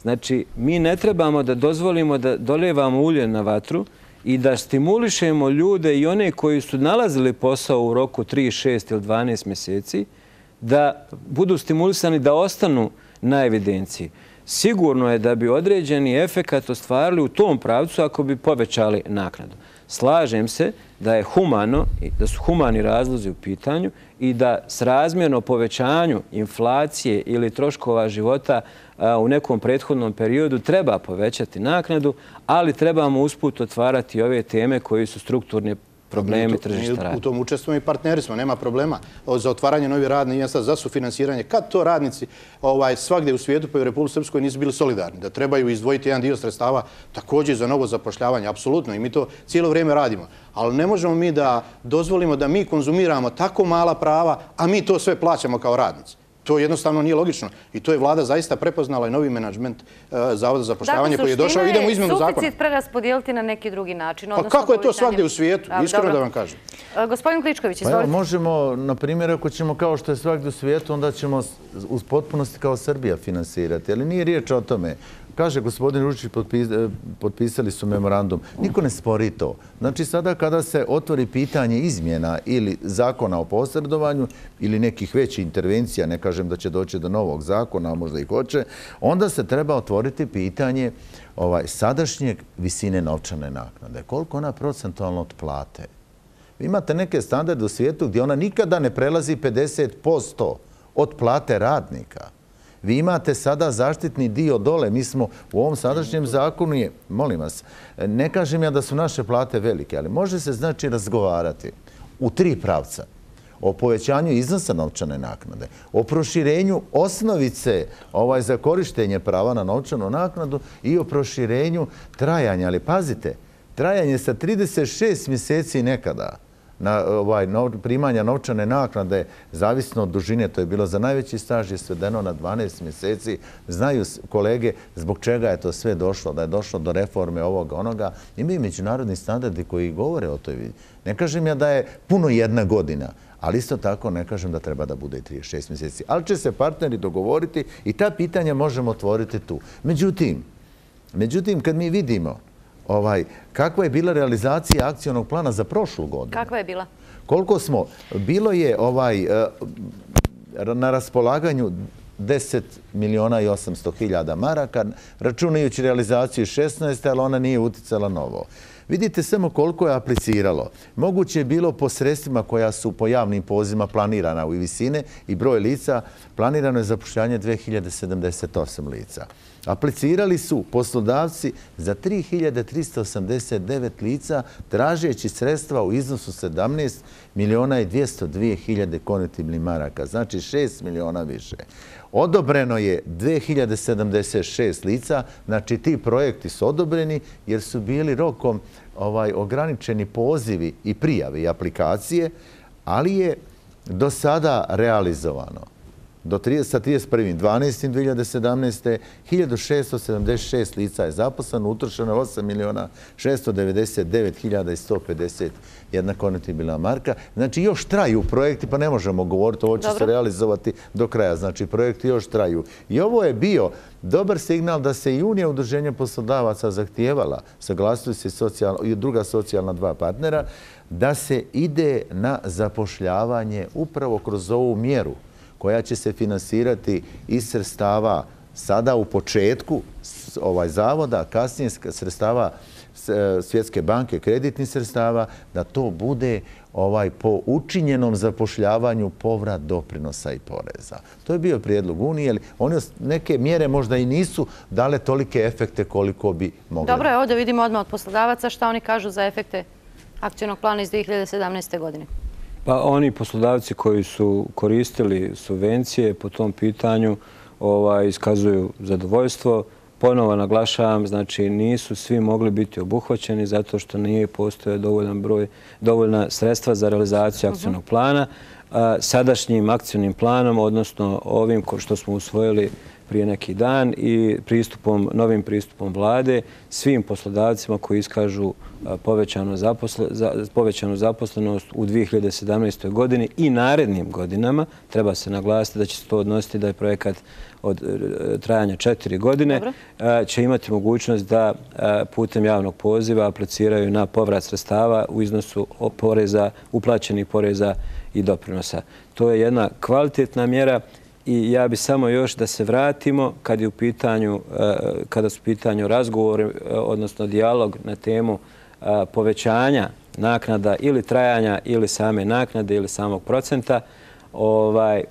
Znači, mi ne trebamo da dozvolimo da dolijevamo ulje na vatru i da stimulišemo ljude i one koji su nalazili posao u roku tri, šest ili dvanaest mjeseci da budu stimulisani da ostanu na evidenciji. Sigurno je da bi određeni efekat ostvarili u tom pravcu ako bi povećali naknadu. Slažem se da je humano, da su humani razlozi u pitanju i da s razmjerno povećanju inflacije ili troškova života u nekom prethodnom periodu treba povećati naknadu, ali trebamo usput otvarati ove teme koji su strukturne problemi tržišta rada. U tom učestvujemo i partneri smo, nema problema za otvaranje novih radnih mjesta, za sufinansiranje. Kad to radnici svagdje u svijetu pa i u Republici Srpskoj nisu bili solidarni, da trebaju izdvojiti jedan dio sredstava također za novo zapošljavanje, apsolutno, i mi to cijelo vrijeme radimo. Ali ne možemo mi da dozvolimo da mi konzumiramo tako mala prava, a mi to sve plaćamo kao radnici. To jednostavno nije logično. I to je vlada zaista prepoznala i novi menadžment Zavoda za zapošljavanje koji je došao. Idemo u izmjenu zakona. Suficit preraspodijeliti na neki drugi način. Pa kako je to svagdje u svijetu? Iskreno da vam kažem. Gospodin Kličković, izvolite. Možemo, na primjer, ako ćemo kao što je svagdje u svijetu, onda ćemo uz potpunosti kao Srbija finansirati. Ali nije riječ o tome. Kaže gospodin Ružić, potpisali su memorandum. Niko ne spori to. Znači sada kada se otvori pitanje izmjena ili zakona o posredovanju ili nekih većih intervencija, ne kažem da će doći do novog zakona, a možda i hoće, onda se treba otvoriti pitanje sadašnjeg visine novčane naknade. Koliko ona procentualno od plate? Vi imate neke standarde u svijetu gdje ona nikada ne prelazi pedeset posto od plate radnika. Vi imate sada zaštitni dio dole. Mi smo u ovom sadašnjem zakonu, je, molim vas, ne kažem ja da su naše plate velike, ali može se znači razgovarati u tri pravca. O povećanju iznosa novčane naknade, o proširenju osnovice za korištenje prava na novčanu naknadu i o proširenju trajanja. Ali pazite, trajanje sa trideset šest mjeseci nekada na primanja novčane naknade, zavisno od dužine, to je bilo za najveći staž, je svedeno na dvanaest mjeseci. Znaju kolege zbog čega je to sve došlo, da je došlo do reforme ovoga, onoga. Imaju međunarodni standardi koji govore o toj vidi. Ne kažem ja da je puno jedna godina, ali isto tako ne kažem da treba da bude i trideset šest mjeseci. Ali će se partneri dogovoriti i ta pitanja možemo otvoriti tu. Međutim, međutim, kad mi vidimo kakva je bila realizacija akcionog plana za prošlu godinu? Kakva je bila? Koliko smo? Bilo je na raspolaganju deset miliona i osamsto hiljada maraka, računajući realizaciju šesnaest, ali ona nije uticala novo. Vidite samo koliko je apliciralo. Moguće je bilo po sredstvima koja su po javnim pozivima planirana u visine i broj lica, planirano je zapošljavanje dve hiljade sedamdeset osam lica. Aplicirali su poslodavci za tri hiljade trista osamdeset devet lica, tražeći sredstva u iznosu sedamnaest miliona i dvjesto dvije hiljade konvertibilnih maraka, znači šest miliona više. Odobreno je dve hiljade sedamdeset šest lica, znači ti projekti su odobreni jer su bili rokom ograničeni pozivi i prijave i aplikacije, ali je do sada realizovano do sa trideset prvim dvanaestim dve hiljade sedamnaeste. hiljadu šesto sedamdeset šest lica je zaposleno, utrošeno je osam miliona šesto devedeset devet hiljada sto pedeset jedna konvertibilna marka. Znači, još traju projekti, pa ne možemo govoriti, ovo će se realizovati do kraja. Znači, projekti još traju. I ovo je bio dobar signal da se i Unija udruženja poslodavaca zahtijevala, saglasili se i druga socijalna dva partnera, da se ide na zapošljavanje upravo kroz ovu mjeru koja će se finansirati iz sredstava sada u početku ovaj zavoda, kasnije sredstava Svjetske banke, kreditnih sredstava, da to bude ovaj po učinjenom zapošljavanju povrat doprinosa i poreza. To je bio prijedlog Unije, ali one neke mjere možda i nisu dale tolike efekte koliko bi mogli. Dobro je, ovdje vidimo odmah od poslodavaca šta oni kažu za efekte akcijnog plana iz dve hiljade sedamnaeste. godine. Pa oni poslodavci koji su koristili subvencije po tom pitanju iskazuju zadovoljstvo. Ponovo naglašavam, znači nisu svi mogli biti obuhvaćeni zato što nije postojao dovoljan broj, dovoljna sredstva za realizaciju akcijnog plana. Sadašnjim akcijnim planom, odnosno ovim što smo usvojili prije neki dan i pristupom, novim pristupom vlade, svim poslodavcima koji iskažu povećanu zaposlenost u dve hiljade sedamnaestoj. godini i narednim godinama, treba se naglasiti da će se to odnositi da je projekat od trajanja četiri godine, će imati mogućnost da putem javnog poziva apliciraju na povrat sredstava u iznosu poreza, uplaćenih poreza i doprinosa. To je jedna kvalitetna mjera i ja bih samo još da se vratimo kad je u pitanju, kada su u pitanju razgovori, odnosno dijalog na temu povećanja naknada ili trajanja ili same naknade ili samog procenta, ovaj,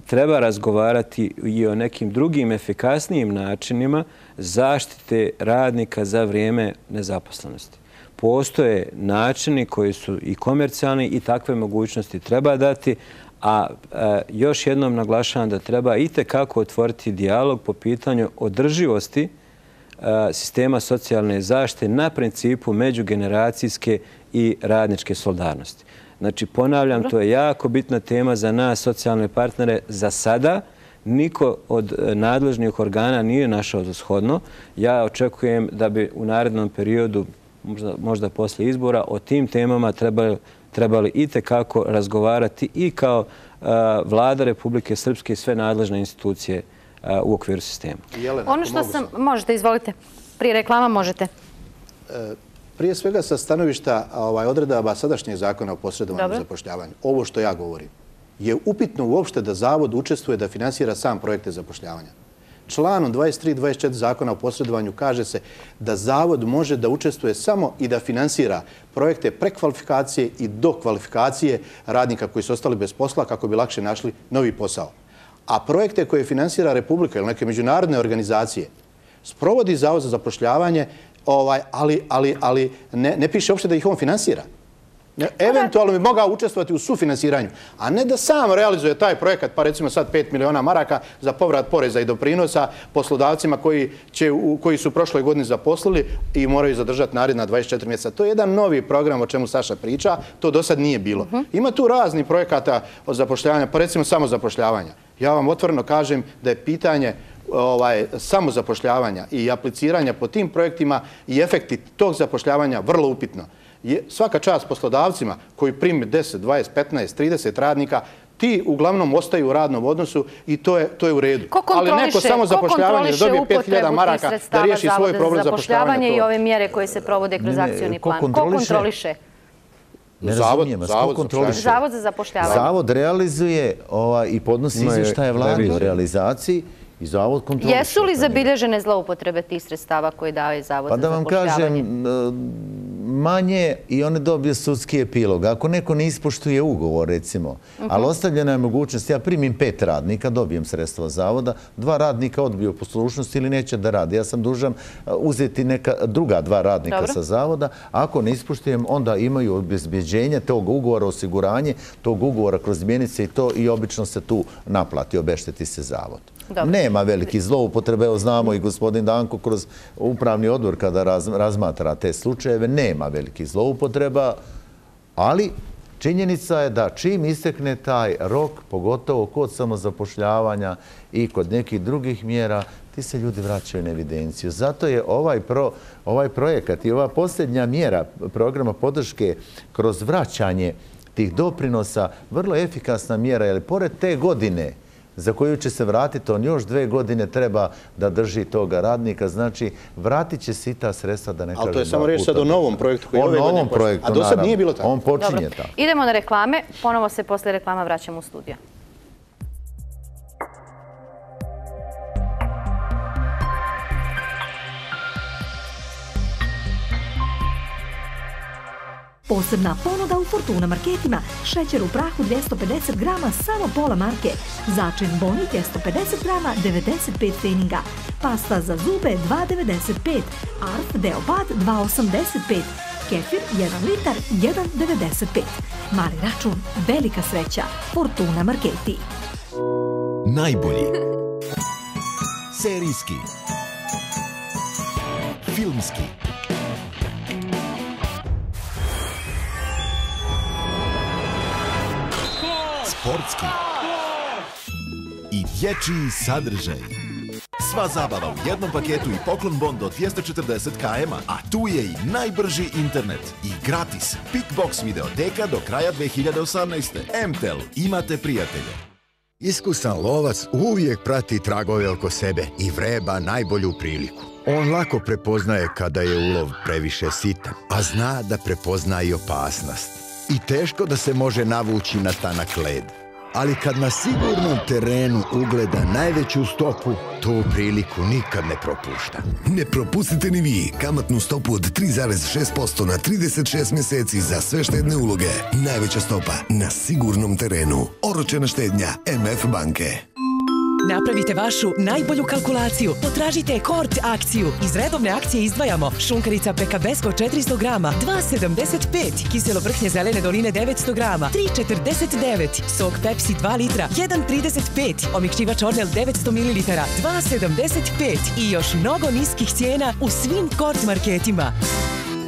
treba razgovarati i o nekim drugim efikasnijim načinima zaštite radnika za vrijeme nezaposlenosti. Postoje načini koji su i komercijalni i takve mogućnosti treba dati, a još jednom naglašavam da treba itekako otvoriti dijalog po pitanju održivosti sistema socijalne zaštite na principu međugeneracijske i radničke solidarnosti. Znači, ponavljam, to je jako bitna tema za nas, socijalne partnere. Za sada niko od nadležnih organa nije našao za shodno. Ja očekujem da bi u narednom periodu, možda poslije izbora, o tim temama trebali itekako razgovarati i kao Vlada Republike Srpske i sve nadležne institucije u okviru sistema. Ono što sam... Možete, izvolite. Prije reklama možete. Prije svega sa stanovišta odredaba sadašnjeg zakona o posredovanju zapošljavanju, ovo što ja govorim, je upitno uopšte da Zavod učestvuje da finansira sam projekte zapošljavanja. Članom dvadeset tri dvadeset četiri zakona o posredovanju kaže se da Zavod može da učestvuje samo i da finansira projekte prekvalifikacije i dokvalifikacije radnika koji su ostali bez posla kako bi lakše našli novi posao. A projekte koje finansira Republika ili neke međunarodne organizacije sprovodi Zavod za zapošljavanje, ali ne piše uopšte da ih on finansira. Eventualno bi mogao učestvovati u sufinansiranju, a ne da sam realizuje taj projekat, pa recimo sad pet miliona maraka za povrat poreza i doprinosa poslodavcima koji su prošle godine zaposlili i moraju zadržati naredna dvadeset četiri mjeseca. To je jedan novi program o čemu Saša priča, to do sad nije bilo. Ima tu razni projekata od zapošljavanja, pa recimo samozapošljavanja. Ja vam otvoreno kažem da je pitanje samozapošljavanja i apliciranja po tim projektima i efekti tog zapošljavanja vrlo upitno. Svaka čast poslodavcima koji prime deset, dvadeset, petnaest, trideset radnika, ti uglavnom ostaju u radnom odnosu i to je u redu. Ali neko samo zapošljavanje da dobije pet hiljada maraka da riješi svoj problem zapošljavanja. I ove mjere koje se provode kroz akcijni plan. Ko kontroliše? Zavod za zapošljavanje. Zavod realizuje i podnosi izvještaje vlade o realizaciji. Jesu li zabilježene zloupotrebe tih sredstava koje daje Zavod za zapošljavanje? Pa da vam kažem, manje i one dobije sudski epilog. Ako neko ne ispoštuje ugovor, recimo, ali ostavljena je mogućnost, ja primim pet radnika, dobijem sredstva Zavoda, dva radnika odbiju poslušnost ili neće da radi. Ja sam dužan uzeti neka druga dva radnika sa Zavoda. Ako ne ispoštujem, onda imaju obezbeđenje tog ugovora, osiguranje tog ugovora kroz mjenice i to i obično se tu naplati, obešteti se Zavod. Nema veliki zloupotrebe, evo znamo i gospodin Danko kroz upravni odbor kada razmatra te slučajeve, nema velikih zloupotreba, ali Činjenica je da čim istekne taj rok, pogotovo kod samozapošljavanja i kod nekih drugih mjera, ti se ljudi vraćaju na evidenciju. Zato je ovaj, pro, ovaj projekat i ova posljednja mjera programa podrške kroz vraćanje tih doprinosa vrlo efikasna mjera, jer pored te godine za koju će se vratiti, on još dve godine treba da drži toga radnika. Znači, vratit će se i ta sredstva, da ne kažem. Ali to je samo reći sad o novom projektu koji o ove godine novom projektu, a do sad nije bilo tako. On počinje tako. Idemo na reklame. Ponovo se posle reklama vraćamo u studio. Posebna ponuda u Fortuna marketima. Šećer u prahu dvjesto pedeset grama, samo pola marke. Začin boni dvjesto pedeset grama, devedeset pet pfeniga. Pasta za zube dva devedeset pet. Arf Deopad dva osamdeset pet. Kefir jedan litar jedan devedeset pet. Mali račun, velika sreća. Fortuna marketi. Najbolji. Serijski. Filmski. Sportski i dječji sadržaj. Sva zabava u jednom paketu i poklon bon do dvjesto četrdeset kilometara, a tu je i najbrži internet i gratis Pickbox videoteka do kraja dve hiljade osamnaeste. M T E L, imate prijatelje. Iskusan lovac uvijek prati tragove oko sebe i vreba najbolju priliku. On lako prepoznaje kada je ulov previše sitan, a zna da prepozna i opasnost. I teško da se može navući na tanak led. Ali kad na sigurnom terenu ugleda najveću stopu, tu priliku nikad ne propušta. Ne propustite ni vi kamatnu stopu od tri zarez šest posto na trideset šest mjeseci za sve štedne uloge. Najveća stopa na sigurnom terenu. Oročena štednja M F banke. Napravite vašu najbolju kalkulaciju. Potražite Kort akciju. Iz redovne akcije izdvajamo šunkarica Pekabesko četiristo grama, dva sedamdeset pet, kiselo vrhnje zelene doline devetsto grama, tri četrdeset devet, sok Pepsi dva litra, jedan trideset pet, omekšivač Ornel devetsto mililitara, dva sedamdeset pet i još mnogo niskih cijena u svim Kort marketima.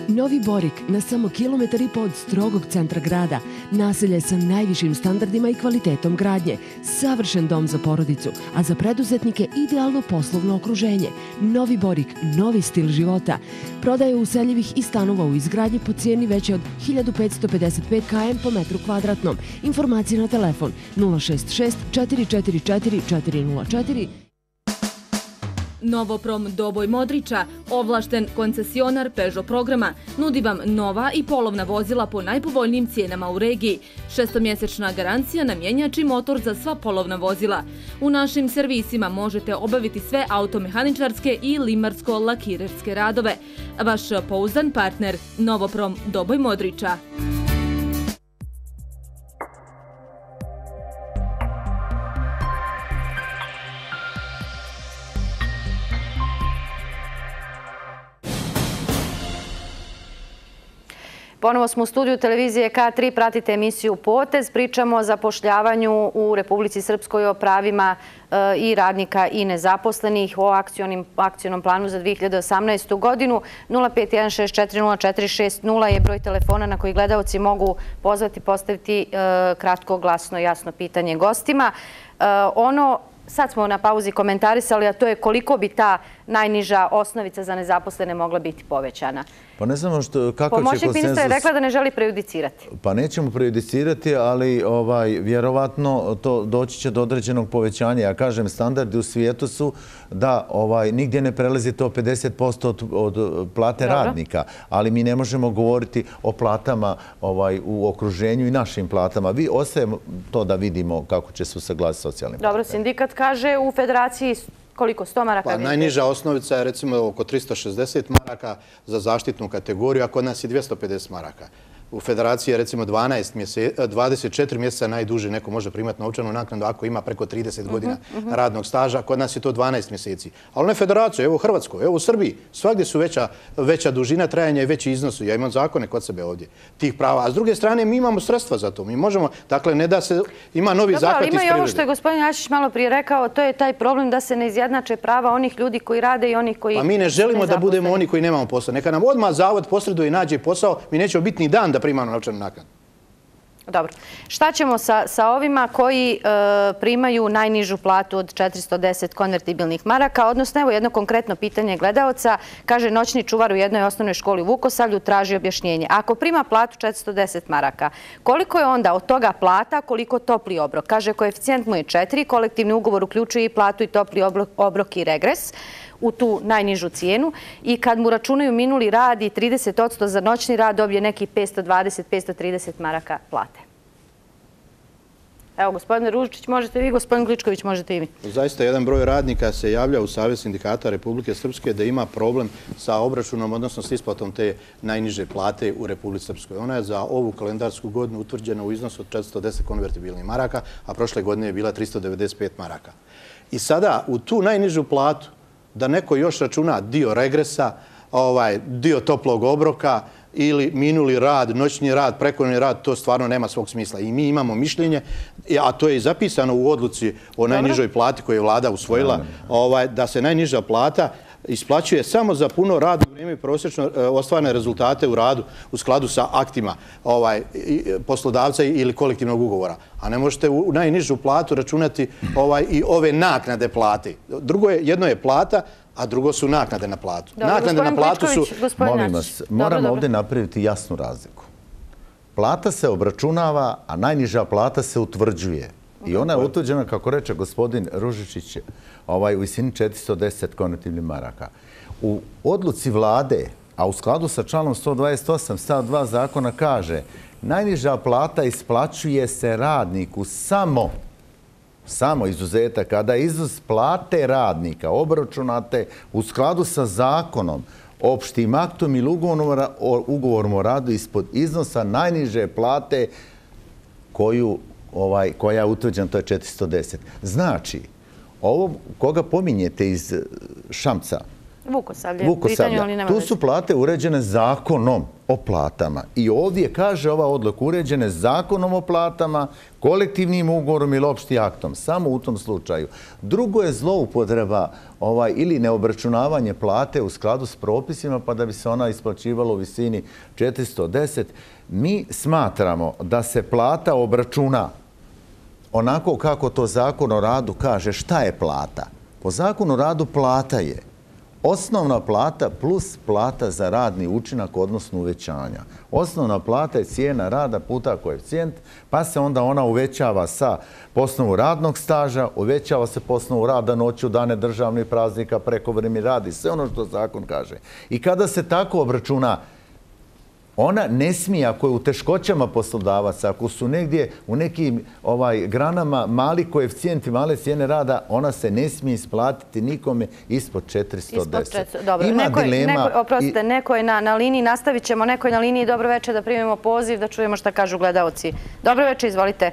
Novi Borik, na samo kilometar i po od strogog centra grada, naselje sa najvišim standardima i kvalitetom gradnje, savršen dom za porodicu, a za preduzetnike idealno poslovno okruženje. Novi Borik, novi stil života. Prodaje useljivih i stanova u izgradnji po cijeni veće od hiljadu petsto pedeset pet kilometara po metru kvadratnom. Informacije na telefon nula šest šest četiri četiri četiri četiri nula četiri. Novoprom Doboj Modriča, ovlašten koncesionar Peugeot programa, nudi vam nova i polovna vozila po najpovoljnijim cijenama u regiji. Šestomjesečna garancija na mjenjač i motor za sva polovna vozila. U našim servisima možete obaviti sve automehaničarske i limarsko-lakirerske radove. Vaš pouzdan partner, Novoprom Doboj Modriča. Ponovo smo u studiju televizije K tri, pratite emisiju Potez, pričamo o zapošljavanju u Republici Srpskoj, o pravima i radnika i nezaposlenih, o akcionom planu za dve hiljade osamnaestu godinu. nula pet jedan šest četiri nula četiri šest nula je broj telefona na koji gledaoci mogu pozvati, postaviti kratko, glasno, jasno pitanje gostima. Ono, sad smo na pauzi komentarisali, a to je koliko bi ta najniža osnovica za nezaposlene mogla biti povećana. Pa ne znamo što, kako će konsenzus... Pomoćnik ministra je rekla da ne želi prejudicirati. Pa nećemo prejudicirati, ali ovaj, vjerovatno to doći će do određenog povećanja. Ja kažem, standardi u svijetu su da ovaj, nigdje ne prelazi to pedeset posto od, od plate Dobro. radnika, ali mi ne možemo govoriti o platama ovaj, u okruženju i našim platama. Vi ostajemo to da vidimo kako će se usaglasiti socijalni Dobro, partner. Sindikat kaže u federaciji koliko? sto maraka? Pa najniža osnovica je recimo oko tristo šezdeset maraka za zaštitnu kategoriju, a kod nas je dvjesto pedeset maraka. U federaciji je recimo dvadeset četiri mjeseca najduže neko može primati novčanu naknadu ako ima preko trideset godina radnog staža. Kod nas je to dvanaest mjeseci. Ali ne federaciju, evo u Hrvatskoj, evo u Srbiji. Svagdje su veća, veća dužina trajanja i veći iznosu. Ja imam zakone kod sebe ovdje tih prava. A s druge strane mi imamo sredstva za to. Mi možemo, dakle ne da se, ima novi Dobro, zakon iz privrede. Ima i ovo što je gospodin Jašić malo prije rekao, to je taj problem da se ne izjednače prava onih ljudi koji rade i onih koji... Pa mi ne želimo da budemo oni koji nemamo posao. Neka nam odmah zavod posreduje i nađe posao, mi nećemo biti ni dan da primamo novčanu naknadu. Dobro. Šta ćemo sa, sa ovima koji e, primaju najnižu platu od četiristo deset konvertibilnih maraka? Odnosno, evo jedno konkretno pitanje gledaoca. Kaže, noćni čuvar u jednoj osnovnoj školi u Vukosavlju traži objašnjenje. Ako prima platu četiristo deset maraka, koliko je onda od toga plata, koliko topli obrok? Kaže, koeficijent mu je četiri, kolektivni ugovor uključuje i platu i topli obrok, obrok i regres u tu najnižu cijenu i kad mu računaju minuli rad i trideset posto za noćni rad dobije neki petsto dvadeset do petsto trideset maraka plate. Evo, gospodine Ružičić, možete vi, gospodin Gličković, možete i vi. Zaista, jedan broj radnika se javlja u Savez sindikata Republike Srpske da ima problem sa obračunom, odnosno s isplatom te najniže plate u Republici Srpskoj. Ona je za ovu kalendarsku godinu utvrđena u iznosu od četiristo deset konvertibilnih maraka, a prošle godine je bila tristo devedeset pet maraka. I sada, u tu najnižu platu, da neko još računa dio regresa, ovaj, dio toplog obroka ili minuli rad, noćni rad, prekovremeni rad, to stvarno nema svog smisla. I mi imamo mišljenje, a to je i zapisano u odluci o najnižoj plati koju je vlada usvojila, ovaj, da se najniža plata isplaćuje samo za puno radno vrijeme i prosječno ostvarene rezultate u radu u skladu sa aktima ovaj, poslodavca ili kolektivnog ugovora. A ne možete u najnižu platu računati ovaj, i ove naknade plate. Drugo je, jedno je plata, a drugo su naknade na platu. Dobro, naknade na platu su... Molim vas, moramo ovdje napraviti jasnu razliku. Plata se obračunava, a najniža plata se utvrđuje. I ona je utvrđena, kako reče gospodin Ružičić, ovaj, u visini četiristo deset konvertibilnih maraka. U odluci vlade, a u skladu sa članom sto dvadeset osam stav dva zakona kaže najniža plata isplaćuje se radniku samo samo izuzeta kada izuz plate radnika obračunate u skladu sa zakonom, opštim aktom ili ugovorom o radu ispod iznosa najniže plate koju Ovaj, koja je utvrđena, to je četiristo deset. Znači, ovo koga pominjete iz Šamca, Vukosavlje, Vukosavlja, tu su plate uređene zakonom o platama. I ovdje kaže ova odluka uređene zakonom o platama, kolektivnim ugovorom ili opštim aktom. Samo u tom slučaju. Drugo je zloupotreba ovaj, ili neobračunavanje plate u skladu s propisima pa da bi se ona isplaćivala u visini četiristo deset. Mi smatramo da se plata obračuna onako kako to zakon o radu kaže. Šta je plata? Po zakonu o radu plata je osnovna plata plus plata za radni učinak, odnosno uvećanja. Osnovna plata je cijena rada puta koeficijent, pa se onda ona uvećava sa po osnovu radnog staža, uvećava se po osnovu rada noću, dane državnih praznika, prekovremeni rad i sve ono što zakon kaže. I kada se tako obračuna, ona ne smije, ako je u teškoćama poslodavaca, ako su negdje u nekim ovaj, granama mali koeficijenti, male cijene rada, ona se ne smije isplatiti nikome ispod četiristo deset. Dobro, Ima neko, dilema... Neko, oprostite, i... neko je na, na liniji, nastavit ćemo, neko je na liniji. Dobro večer, da primimo poziv, da čujemo šta kažu gledaoci. Dobro večer, izvolite.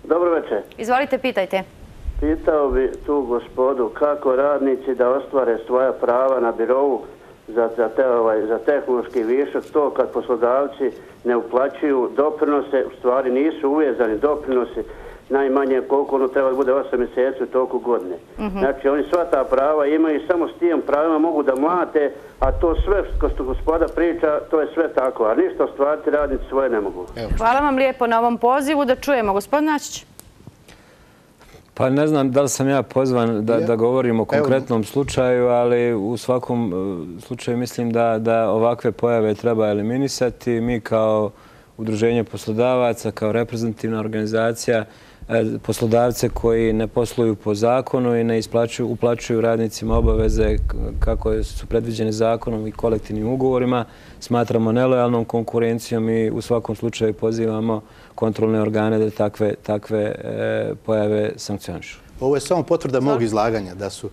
Dobro večer. Izvolite, pitajte. Pitao bi tu gospodu kako radnici da ostvare svoja prava na birovu Za, za, te, ovaj, za tehnološki višak, to kad poslodavci ne uplaćuju doprinose, u stvari nisu uvezani doprinosi, najmanje koliko ono treba da bude osam mjeseci u toku godine. Mm-hmm. Znači oni sva ta prava imaju i samo s tim pravima mogu da mlate, a to sve što gospoda priča, to je sve tako, a ništa ostvariti radnici svoje ne mogu. Evo. Hvala vam lijepo na ovom pozivu, da čujemo. Gospodin Načić. Pa ne znam da li sam ja pozvan da, da govorim o konkretnom slučaju, ali u svakom slučaju mislim da, da ovakve pojave treba eliminisati. Mi kao udruženje poslodavaca, kao reprezentativna organizacija, poslodavce koji ne posluju po zakonu i ne isplaćuju, uplaćuju radnicima obaveze kako su predviđene zakonom i kolektivnim ugovorima, smatramo nelojalnom konkurencijom i u svakom slučaju pozivamo kontrolne organe da takve, takve e, pojave sankcionišu. Ovo je samo potvrda mog izlaganja da su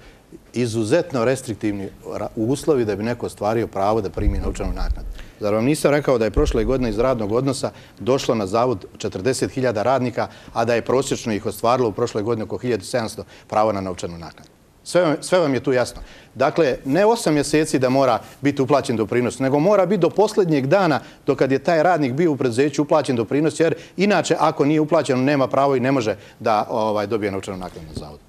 izuzetno restriktivni uslovi da bi neko ostvario pravo da primi novčanu naknadu. Zar vam nisam rekao da je prošle godine iz radnog odnosa došlo na zavod četrdeset hiljada radnika, a da je prosječno ih ostvarilo u prošle godine oko hiljadu sedamsto pravo na novčanu naknadu? Sve, sve vam je tu jasno. Dakle, ne osam mjeseci da mora biti uplaćen doprinos, nego mora biti do posljednjeg dana dokad je taj radnik bio u preduzeću uplaćen doprinos, jer inače ako nije uplaćeno nema pravo i ne može da ovaj, dobije novčanu naknadu na zavodu.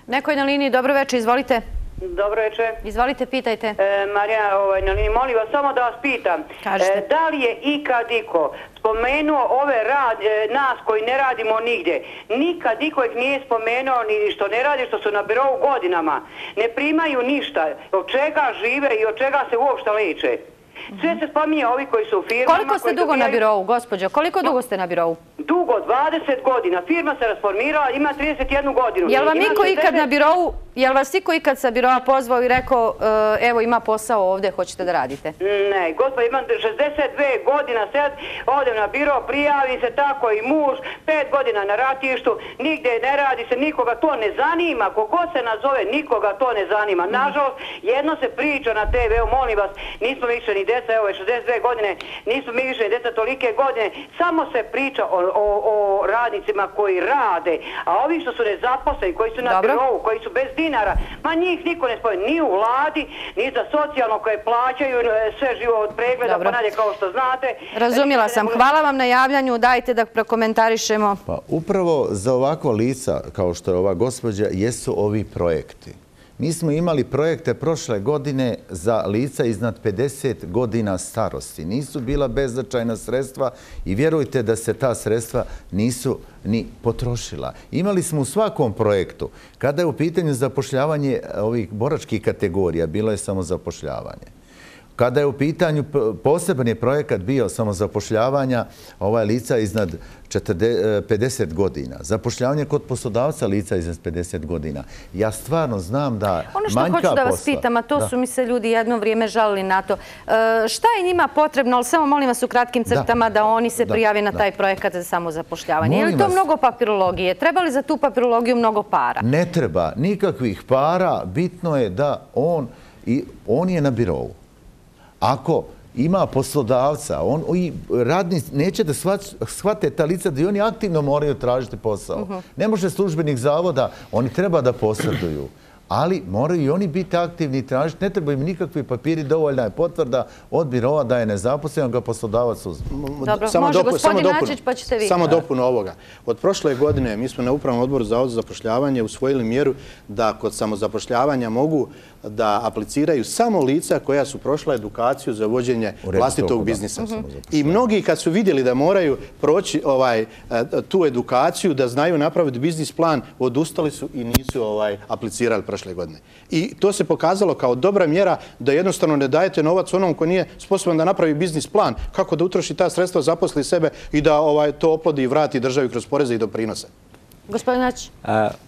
Neko je na liniji. Dobro večer, izvolite. Dobro večer. Izvolite, pitajte. E, Marija, ovaj, molim vas, samo da vas pitam. E, da li je ikad iko spomenuo ove rad, e, nas koji ne radimo nigdje? Nikad iko ih nije spomenuo ni što ne radi, što su na birovu godinama. Ne primaju ništa. Od čega žive i od čega se uopšte leče? Sve se spominje ovi koji su u firmama... Koliko ste dugo na birovu, gospođo? Koliko dugo ste na birovu? Dugo, dvadeset godina. Firma se rasformirala, ima trideset jednu godinu. Jel vam niko ikad na birovu, jel vas niko ikad sa birova pozvao i rekao, evo ima posao ovdje, hoćete da radite? Ne, gospod, imam šezdeset dve godina sad, odem na biro, prijavim se tako i muž, pet godina na ratištu, nigde ne radi se, nikoga to ne zanima, kogod se nazove, nikoga to ne zanima. Nažalost, jedno se priča na te ve, molim vas, nismo više ni deca, evo je šezdeset dve godine, nismo mi više ni deca tolike godine, samo se priča o, o, o radnicima koji rade, a ovi što su nezaposleni, koji su na birovu, koji su bez dinara, ma njih niko ne spoje, ni u vladi, ni za socijalno koje plaćaju sve živo od pregleda, pa nadje kao što znate. Razumjela sam. Hvala vam na javljanju, dajte da prokomentarišemo. Pa upravo za ovakva lica, kao što je ova gospođa, jesu ovi projekti. Mi smo imali projekte prošle godine za lica iznad pedeset godina starosti. Nisu bila beznačajna sredstva i vjerujte da se ta sredstva nisu ni potrošila. Imali smo u svakom projektu, kada je u pitanju zapošljavanje ovih boračkih kategorija, bilo je samo zapošljavanje. Kada je u pitanju, poseban je projekat bio samozapošljavanja ovaj lica iznad pedeset godina. Zapošljavanje kod poslodavca lica iznad pedeset godina. Ja stvarno znam da manjka posla. Ono što hoću da vas pitam, a to su mi se ljudi jedno vrijeme žalili na to. Šta je njima potrebno, ali samo molim vas u kratkim crtama da oni se prijave na taj projekat za samozapošljavanje. Je li to mnogo papirologije? Treba li za tu papirologiju mnogo para? Ne treba nikakvih para. Bitno je da on, on je na birovu. Ako ima poslodavca, radnici neće da shvate ta lica da i oni aktivno moraju tražiti posao. Ne može službenik zavoda, oni treba da posreduju, ali moraju i oni biti aktivni i tražiti. Ne treba im nikakvi papiri, dovoljna je potvrda od birova da je nezaposlen, ga poslodavac uzme. Dobro, može gospodin Načić, pa ćete vi. Samo dopunu ovoga. Od prošle godine mi smo na Upravnom odboru Zavoda za zapošljavanje usvojili mjeru da kod samozapošljavanja mogu da apliciraju samo lica koja su prošla edukaciju za vođenje vlastitog biznisa. I mnogi kad su vidjeli da moraju proći tu edukaciju, da znaju napraviti biznis plan, odustali su i nisu aplicirali prošle godine. I to se pokazalo kao dobra mjera da jednostavno ne dajete novac onom ko nije sposoban da napravi biznis plan, kako da utroši ta sredstva, zaposli sebe i da to oplodi i vrati državi kroz poreze i doprinose. Gospodin Načić.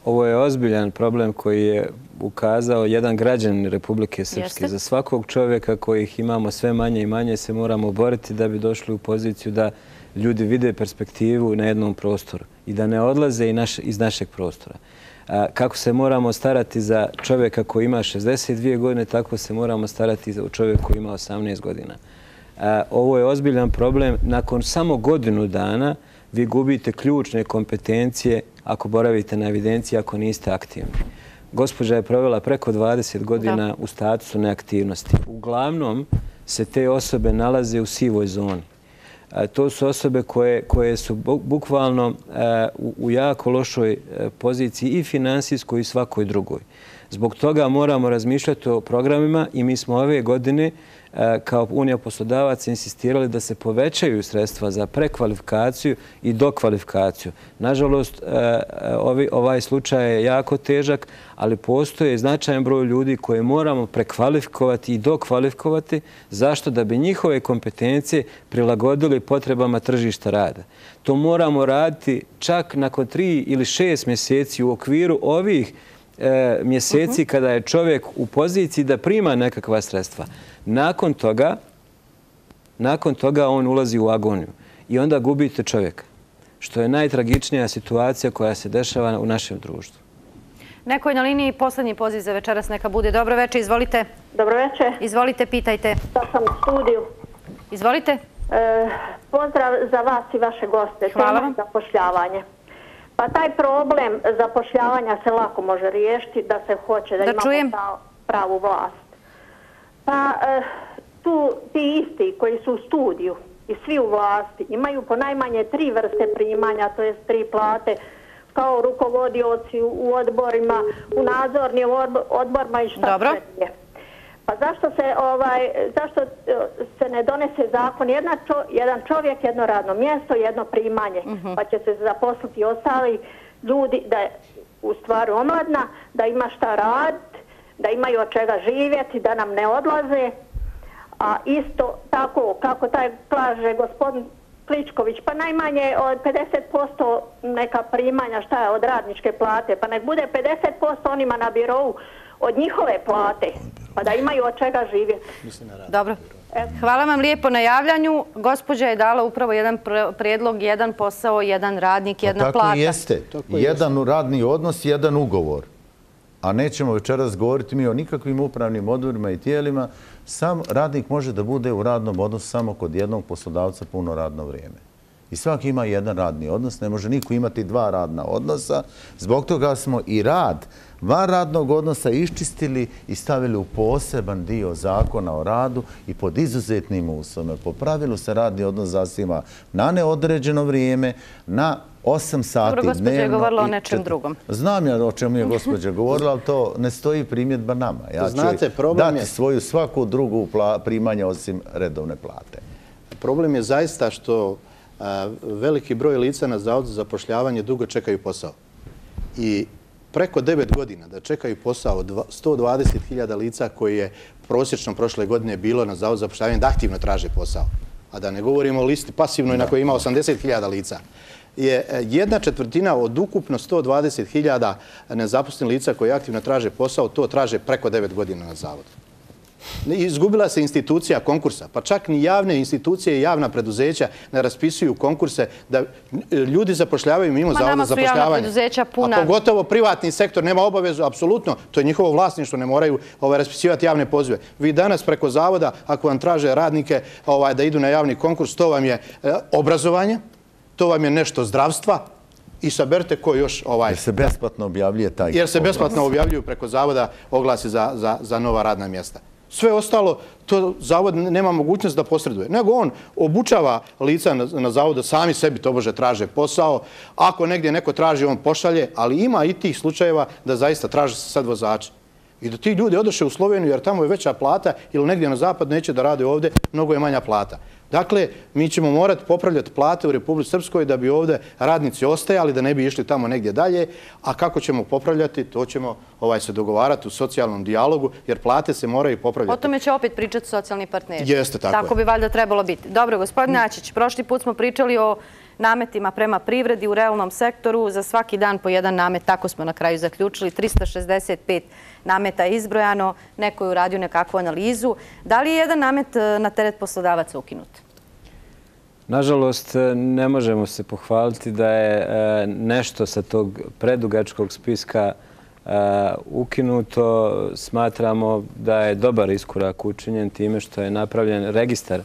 Ovo je ozbiljan problem koji je ukazao jedan građanin Republike Srpske. Za svakog čovjeka kojih imamo sve manje i manje se moramo boriti da bi došli u poziciju da ljudi vide perspektivu na jednom prostoru i da ne odlaze iz našeg prostora. Kako se moramo starati za čovjeka koji ima šezdeset dvije godine, tako se moramo starati za čovjeka koji ima osamnaest godina. Ovo je ozbiljan problem. Nakon samo godinu dana vi gubite ključne kompetencije ako boravite na evidenciji, ako niste aktivni. Gospođa je provela preko dvadeset godina u statusu neaktivnosti. Uglavnom se te osobe nalaze u sivoj zoni. To su osobe koje su bukvalno u jako lošoj poziciji i finansijskoj i svakoj drugoj. Zbog toga moramo razmišljati o programima i mi smo ove godine kao Unija poslodavaca insistirali da se povećaju sredstva za prekvalifikaciju i dokvalifikaciju. Nažalost, ovaj slučaj je jako težak, ali postoje značajan broj ljudi koje moramo prekvalifikovati i dokvalifikovati. Zašto? Da bi njihove kompetencije prilagodili potrebama tržišta rada. To moramo raditi čak nakon tri ili šest mjeseci u okviru ovih mjeseci kada je čovjek u poziciji da prima nekakva sredstva. Nakon toga, nakon toga on ulazi u agoniju i onda gubite čovjeka, što je najtragičnija situacija koja se dešava u našem društvu. Neko je na liniji, posljednji poziv za večeras, neka bude. Dobro večer, izvolite. Dobro večer. Izvolite, pitajte. Da sam u studiju. Izvolite. Pozdrav za vas i vaše goste. Hvala vam. Zapošljavanje. Pa taj problem zapošljavanja se lako može riješiti da se hoće da imamo pravu vlast. Pa tu ti isti koji su u studiju i svi u vlasti imaju po najmanje tri vrste primanja, to jest tri plate, kao rukovodioci u odborima, u nadzornim odborima i šta sve je. Pa zašto se, ovaj, zašto se ne donese zakon jedna čo, jedan čovjek, jedno radno mjesto, jedno primanje, uh-huh. pa će se zaposliti ostali ljudi da je u stvari omladna, da ima šta raditi, da imaju od čega živjeti, da nam ne odlaze. A isto tako kako taj kaže gospodin Kličković, pa najmanje od pedeset posto neka primanja šta je od radničke plate, pa nek bude pedeset posto onima na birovu od njihove plate, pa da imaju od čega živjeti. Dobro. Hvala vam lijepo na javljanju. Gospođa je dala upravo jedan prijedlog, jedan posao, jedan radnik, jedna plata. Tako i jeste. Jedan radni odnos, jedan ugovor. A nećemo večeras govoriti mi o nikakvim upravnim odborima i tijelima. Sam radnik može da bude u radnom odnosu samo kod jednog poslodavca puno radno vrijeme. I svaki ima jedan radni odnos, ne može niko imati dva radna odnosa. Zbog toga smo i rad van radnog odnosa iščistili i stavili u poseban dio zakona o radu i pod izuzetnim uslovima. Po pravilu se radni odnos zasniva na neodređeno vrijeme, na osam sati dnevno. Dobro, gospođa je govorila o nečem drugom. Znam ja o čemu je gospođa govorila, ali to ne stoji primjedba nama. Ja ću dati svoju svaku drugu primanja osim redovne plate. Problem je zaista što veliki broj lica na Zavodu za zapošljavanje dugo čekaju posao. I preko devet godina da čekaju posao od sto dvadeset hiljada lica koji je prosječno prošle godine bilo na Zavodu za zapošljavanje da aktivno traže posao. A da ne govorimo o listi pasivnoj na kojoj ima osamdeset hiljada lica. Je jedna četvrtina od ukupno sto dvadeset hiljada nezaposlenih lica koji aktivno traže posao, to traže preko devet godina na Zavodu. Izgubila se institucija konkursa, pa čak ni javne institucije i javna preduzeća ne raspisuju konkurse da ljudi zapošljavaju mimo Zavoda za zapošljavanje. A pogotovo privatni sektor nema obavezu, apsolutno, to je njihovo vlasništvo, ne moraju raspisivati javne pozive. Vi danas preko Zavoda, ako vam traže radnike da idu na javni konkurs, to vam je obrazovanje, to vam je nešto zdravstva i saberite ko još... Jer se besplatno objavljuje taj... Jer se besplatno objavljuju preko Zavoda oglasi za nova radna mjesta. Sve ostalo, to Zavod nema mogućnost da posreduje. Nego on obučava lica na Zavodu, sami sebi tobože traže posao. Ako negdje neko traži, on pošalje, ali ima i tih slučajeva da zaista traže se sad vozači. I da ti ljudi odoše u Sloveniju jer tamo je veća plata ili negdje na zapad neće da rade ovdje, mnogo je manja plata. Dakle, mi ćemo morati popravljati plate u Republici Srpskoj da bi ovdje radnici ostajali, da ne bi išli tamo negdje dalje. A kako ćemo popravljati, to ćemo se dogovarati u socijalnom dijalogu, jer plate se moraju popravljati. O tome će opet pričati socijalni partneri. Jeste, tako je. Tako bi valjda trebalo biti. Dobro, gospodin Ačić, prošli put smo pričali o nametima prema privredi u realnom sektoru. Za svaki dan po jedan namet, tako smo na kraju zaključili, trista šezdeset pet nameta je izbrojano, neko je uradio nekakvu analizu. Da li je jedan namet na teret poslodavaca ukinut? Nažalost, ne možemo se pohvaliti da je nešto sa tog predugačkog spiska ukinuto. Smatramo da je dobar iskorak učinjen time što je napravljen registar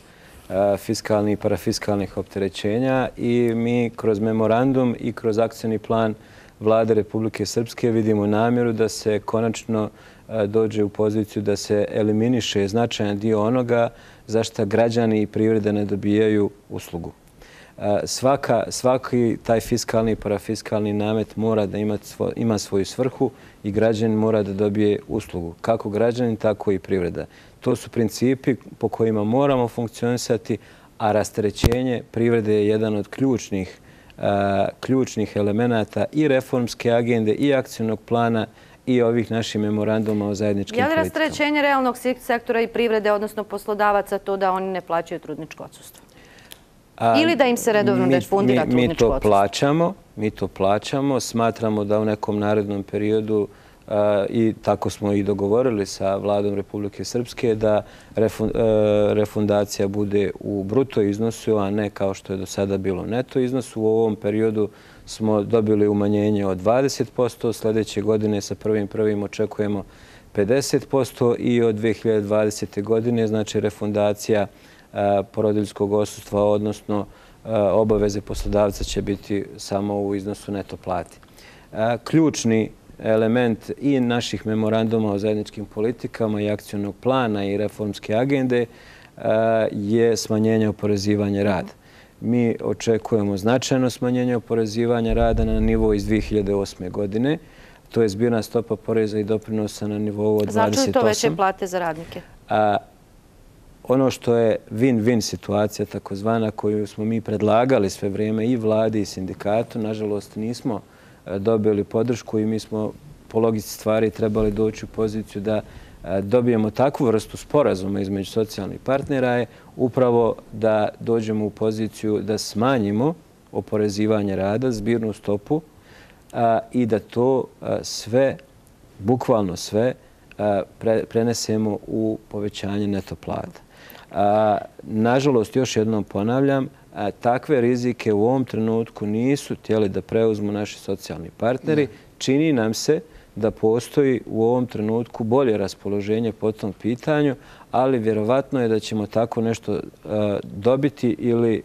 fiskalnih i parafiskalnih opterećenja i mi kroz memorandum i kroz akcioni plan Vlade Republike Srpske vidimo namjeru da se konačno dođe u poziciju da se eliminiše značajan dio onoga za što građani i privrede ne dobijaju uslugu. Svaki taj fiskalni i parafiskalni namet mora da ima svoju svrhu i građanin mora da dobije uslugu. Kako građanin, tako i privreda. To su principi po kojima moramo funkcionisati, a rasterećenje privrede je jedan od ključnih ključnih elemenata i reformske agende i akcijnog plana i ovih naših memoranduma o zajedničkim politikama. Je li rasterećenje realnog sektora i privrede, odnosno poslodavaca, to da oni ne plaćaju trudničko odsustvo? Ili da im se redovno refundira trudničko odsustvo? Mi to plaćamo, mi to plaćamo. Smatramo da u nekom narednom periodu i tako smo i dogovorili sa Vladom Republike Srpske da refundacija bude u bruto iznosu, a ne kao što je do sada bilo neto iznosu. U ovom periodu smo dobili umanjenje od dvadeset posto, sljedeće godine sa prvim prvim očekujemo pedeset posto i od dve hiljade dvadesete. godine znači refundacija porodiljskog odsustva, odnosno obaveze poslodavca će biti samo u iznosu neto plati. Ključni element i naših memoranduma o zajedničkim politikama i akcijnog plana i reformske agende je smanjenje oporezivanja rada. mi očekujemo značajno smanjenje oporezivanja rada na nivou iz dvije hiljade osme. godine. To je zbirna stopa poreza i doprinosa na nivou od dvadeset osam. Znači li to veće plate za radnike? Ono što je win-win situacija, takozvana, koju smo mi predlagali sve vrijeme i vladi i sindikatu, nažalost nismo dobili podršku i mi smo po logici stvari trebali doći u poziciju da dobijemo takvu vrstu sporazuma između socijalnih partnera je upravo da dođemo u poziciju da smanjimo oporezivanje rada, zbirnu stopu i da to sve, bukvalno sve, prenesemo u povećanje neto plata. Nažalost, još jednom ponavljam, takve rizike u ovom trenutku nisu htjeli da preuzmu naši socijalni partneri. Čini nam se da postoji u ovom trenutku bolje raspoloženje po tom pitanju, ali vjerovatno je da ćemo tako nešto dobiti ili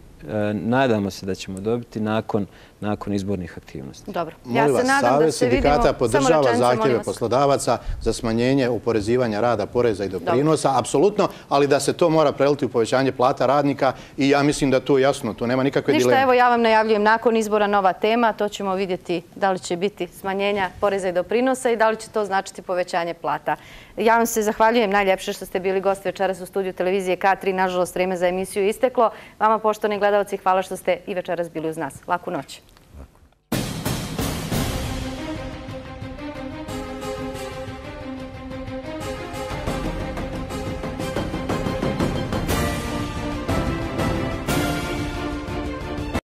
nadamo se da ćemo dobiti nakon, nakon izbornih aktivnosti. Dobro. Ja se nadam da se vidimo... Sindikata podržava zahtjeve poslodavaca za smanjenje oporezivanja rada, poreza i doprinosa, apsolutno, ali da se to mora preliti u povećanje plata radnika i ja mislim da to je jasno, tu nema nikakve dileme. Ništa, evo ja vam najavljujem nakon izbora nova tema, to ćemo vidjeti da li će biti smanjenja poreza i doprinosa i da li će to značiti povećanje plata. Ja vam se zahvaljujem najljepše što ste bili gost večeras u studiju televizije K tri. Nažalost, vreme za emisiju je isteklo. Vama, poštovani gledalci, hvala što ste i večeras bili uz nas. Laku noć.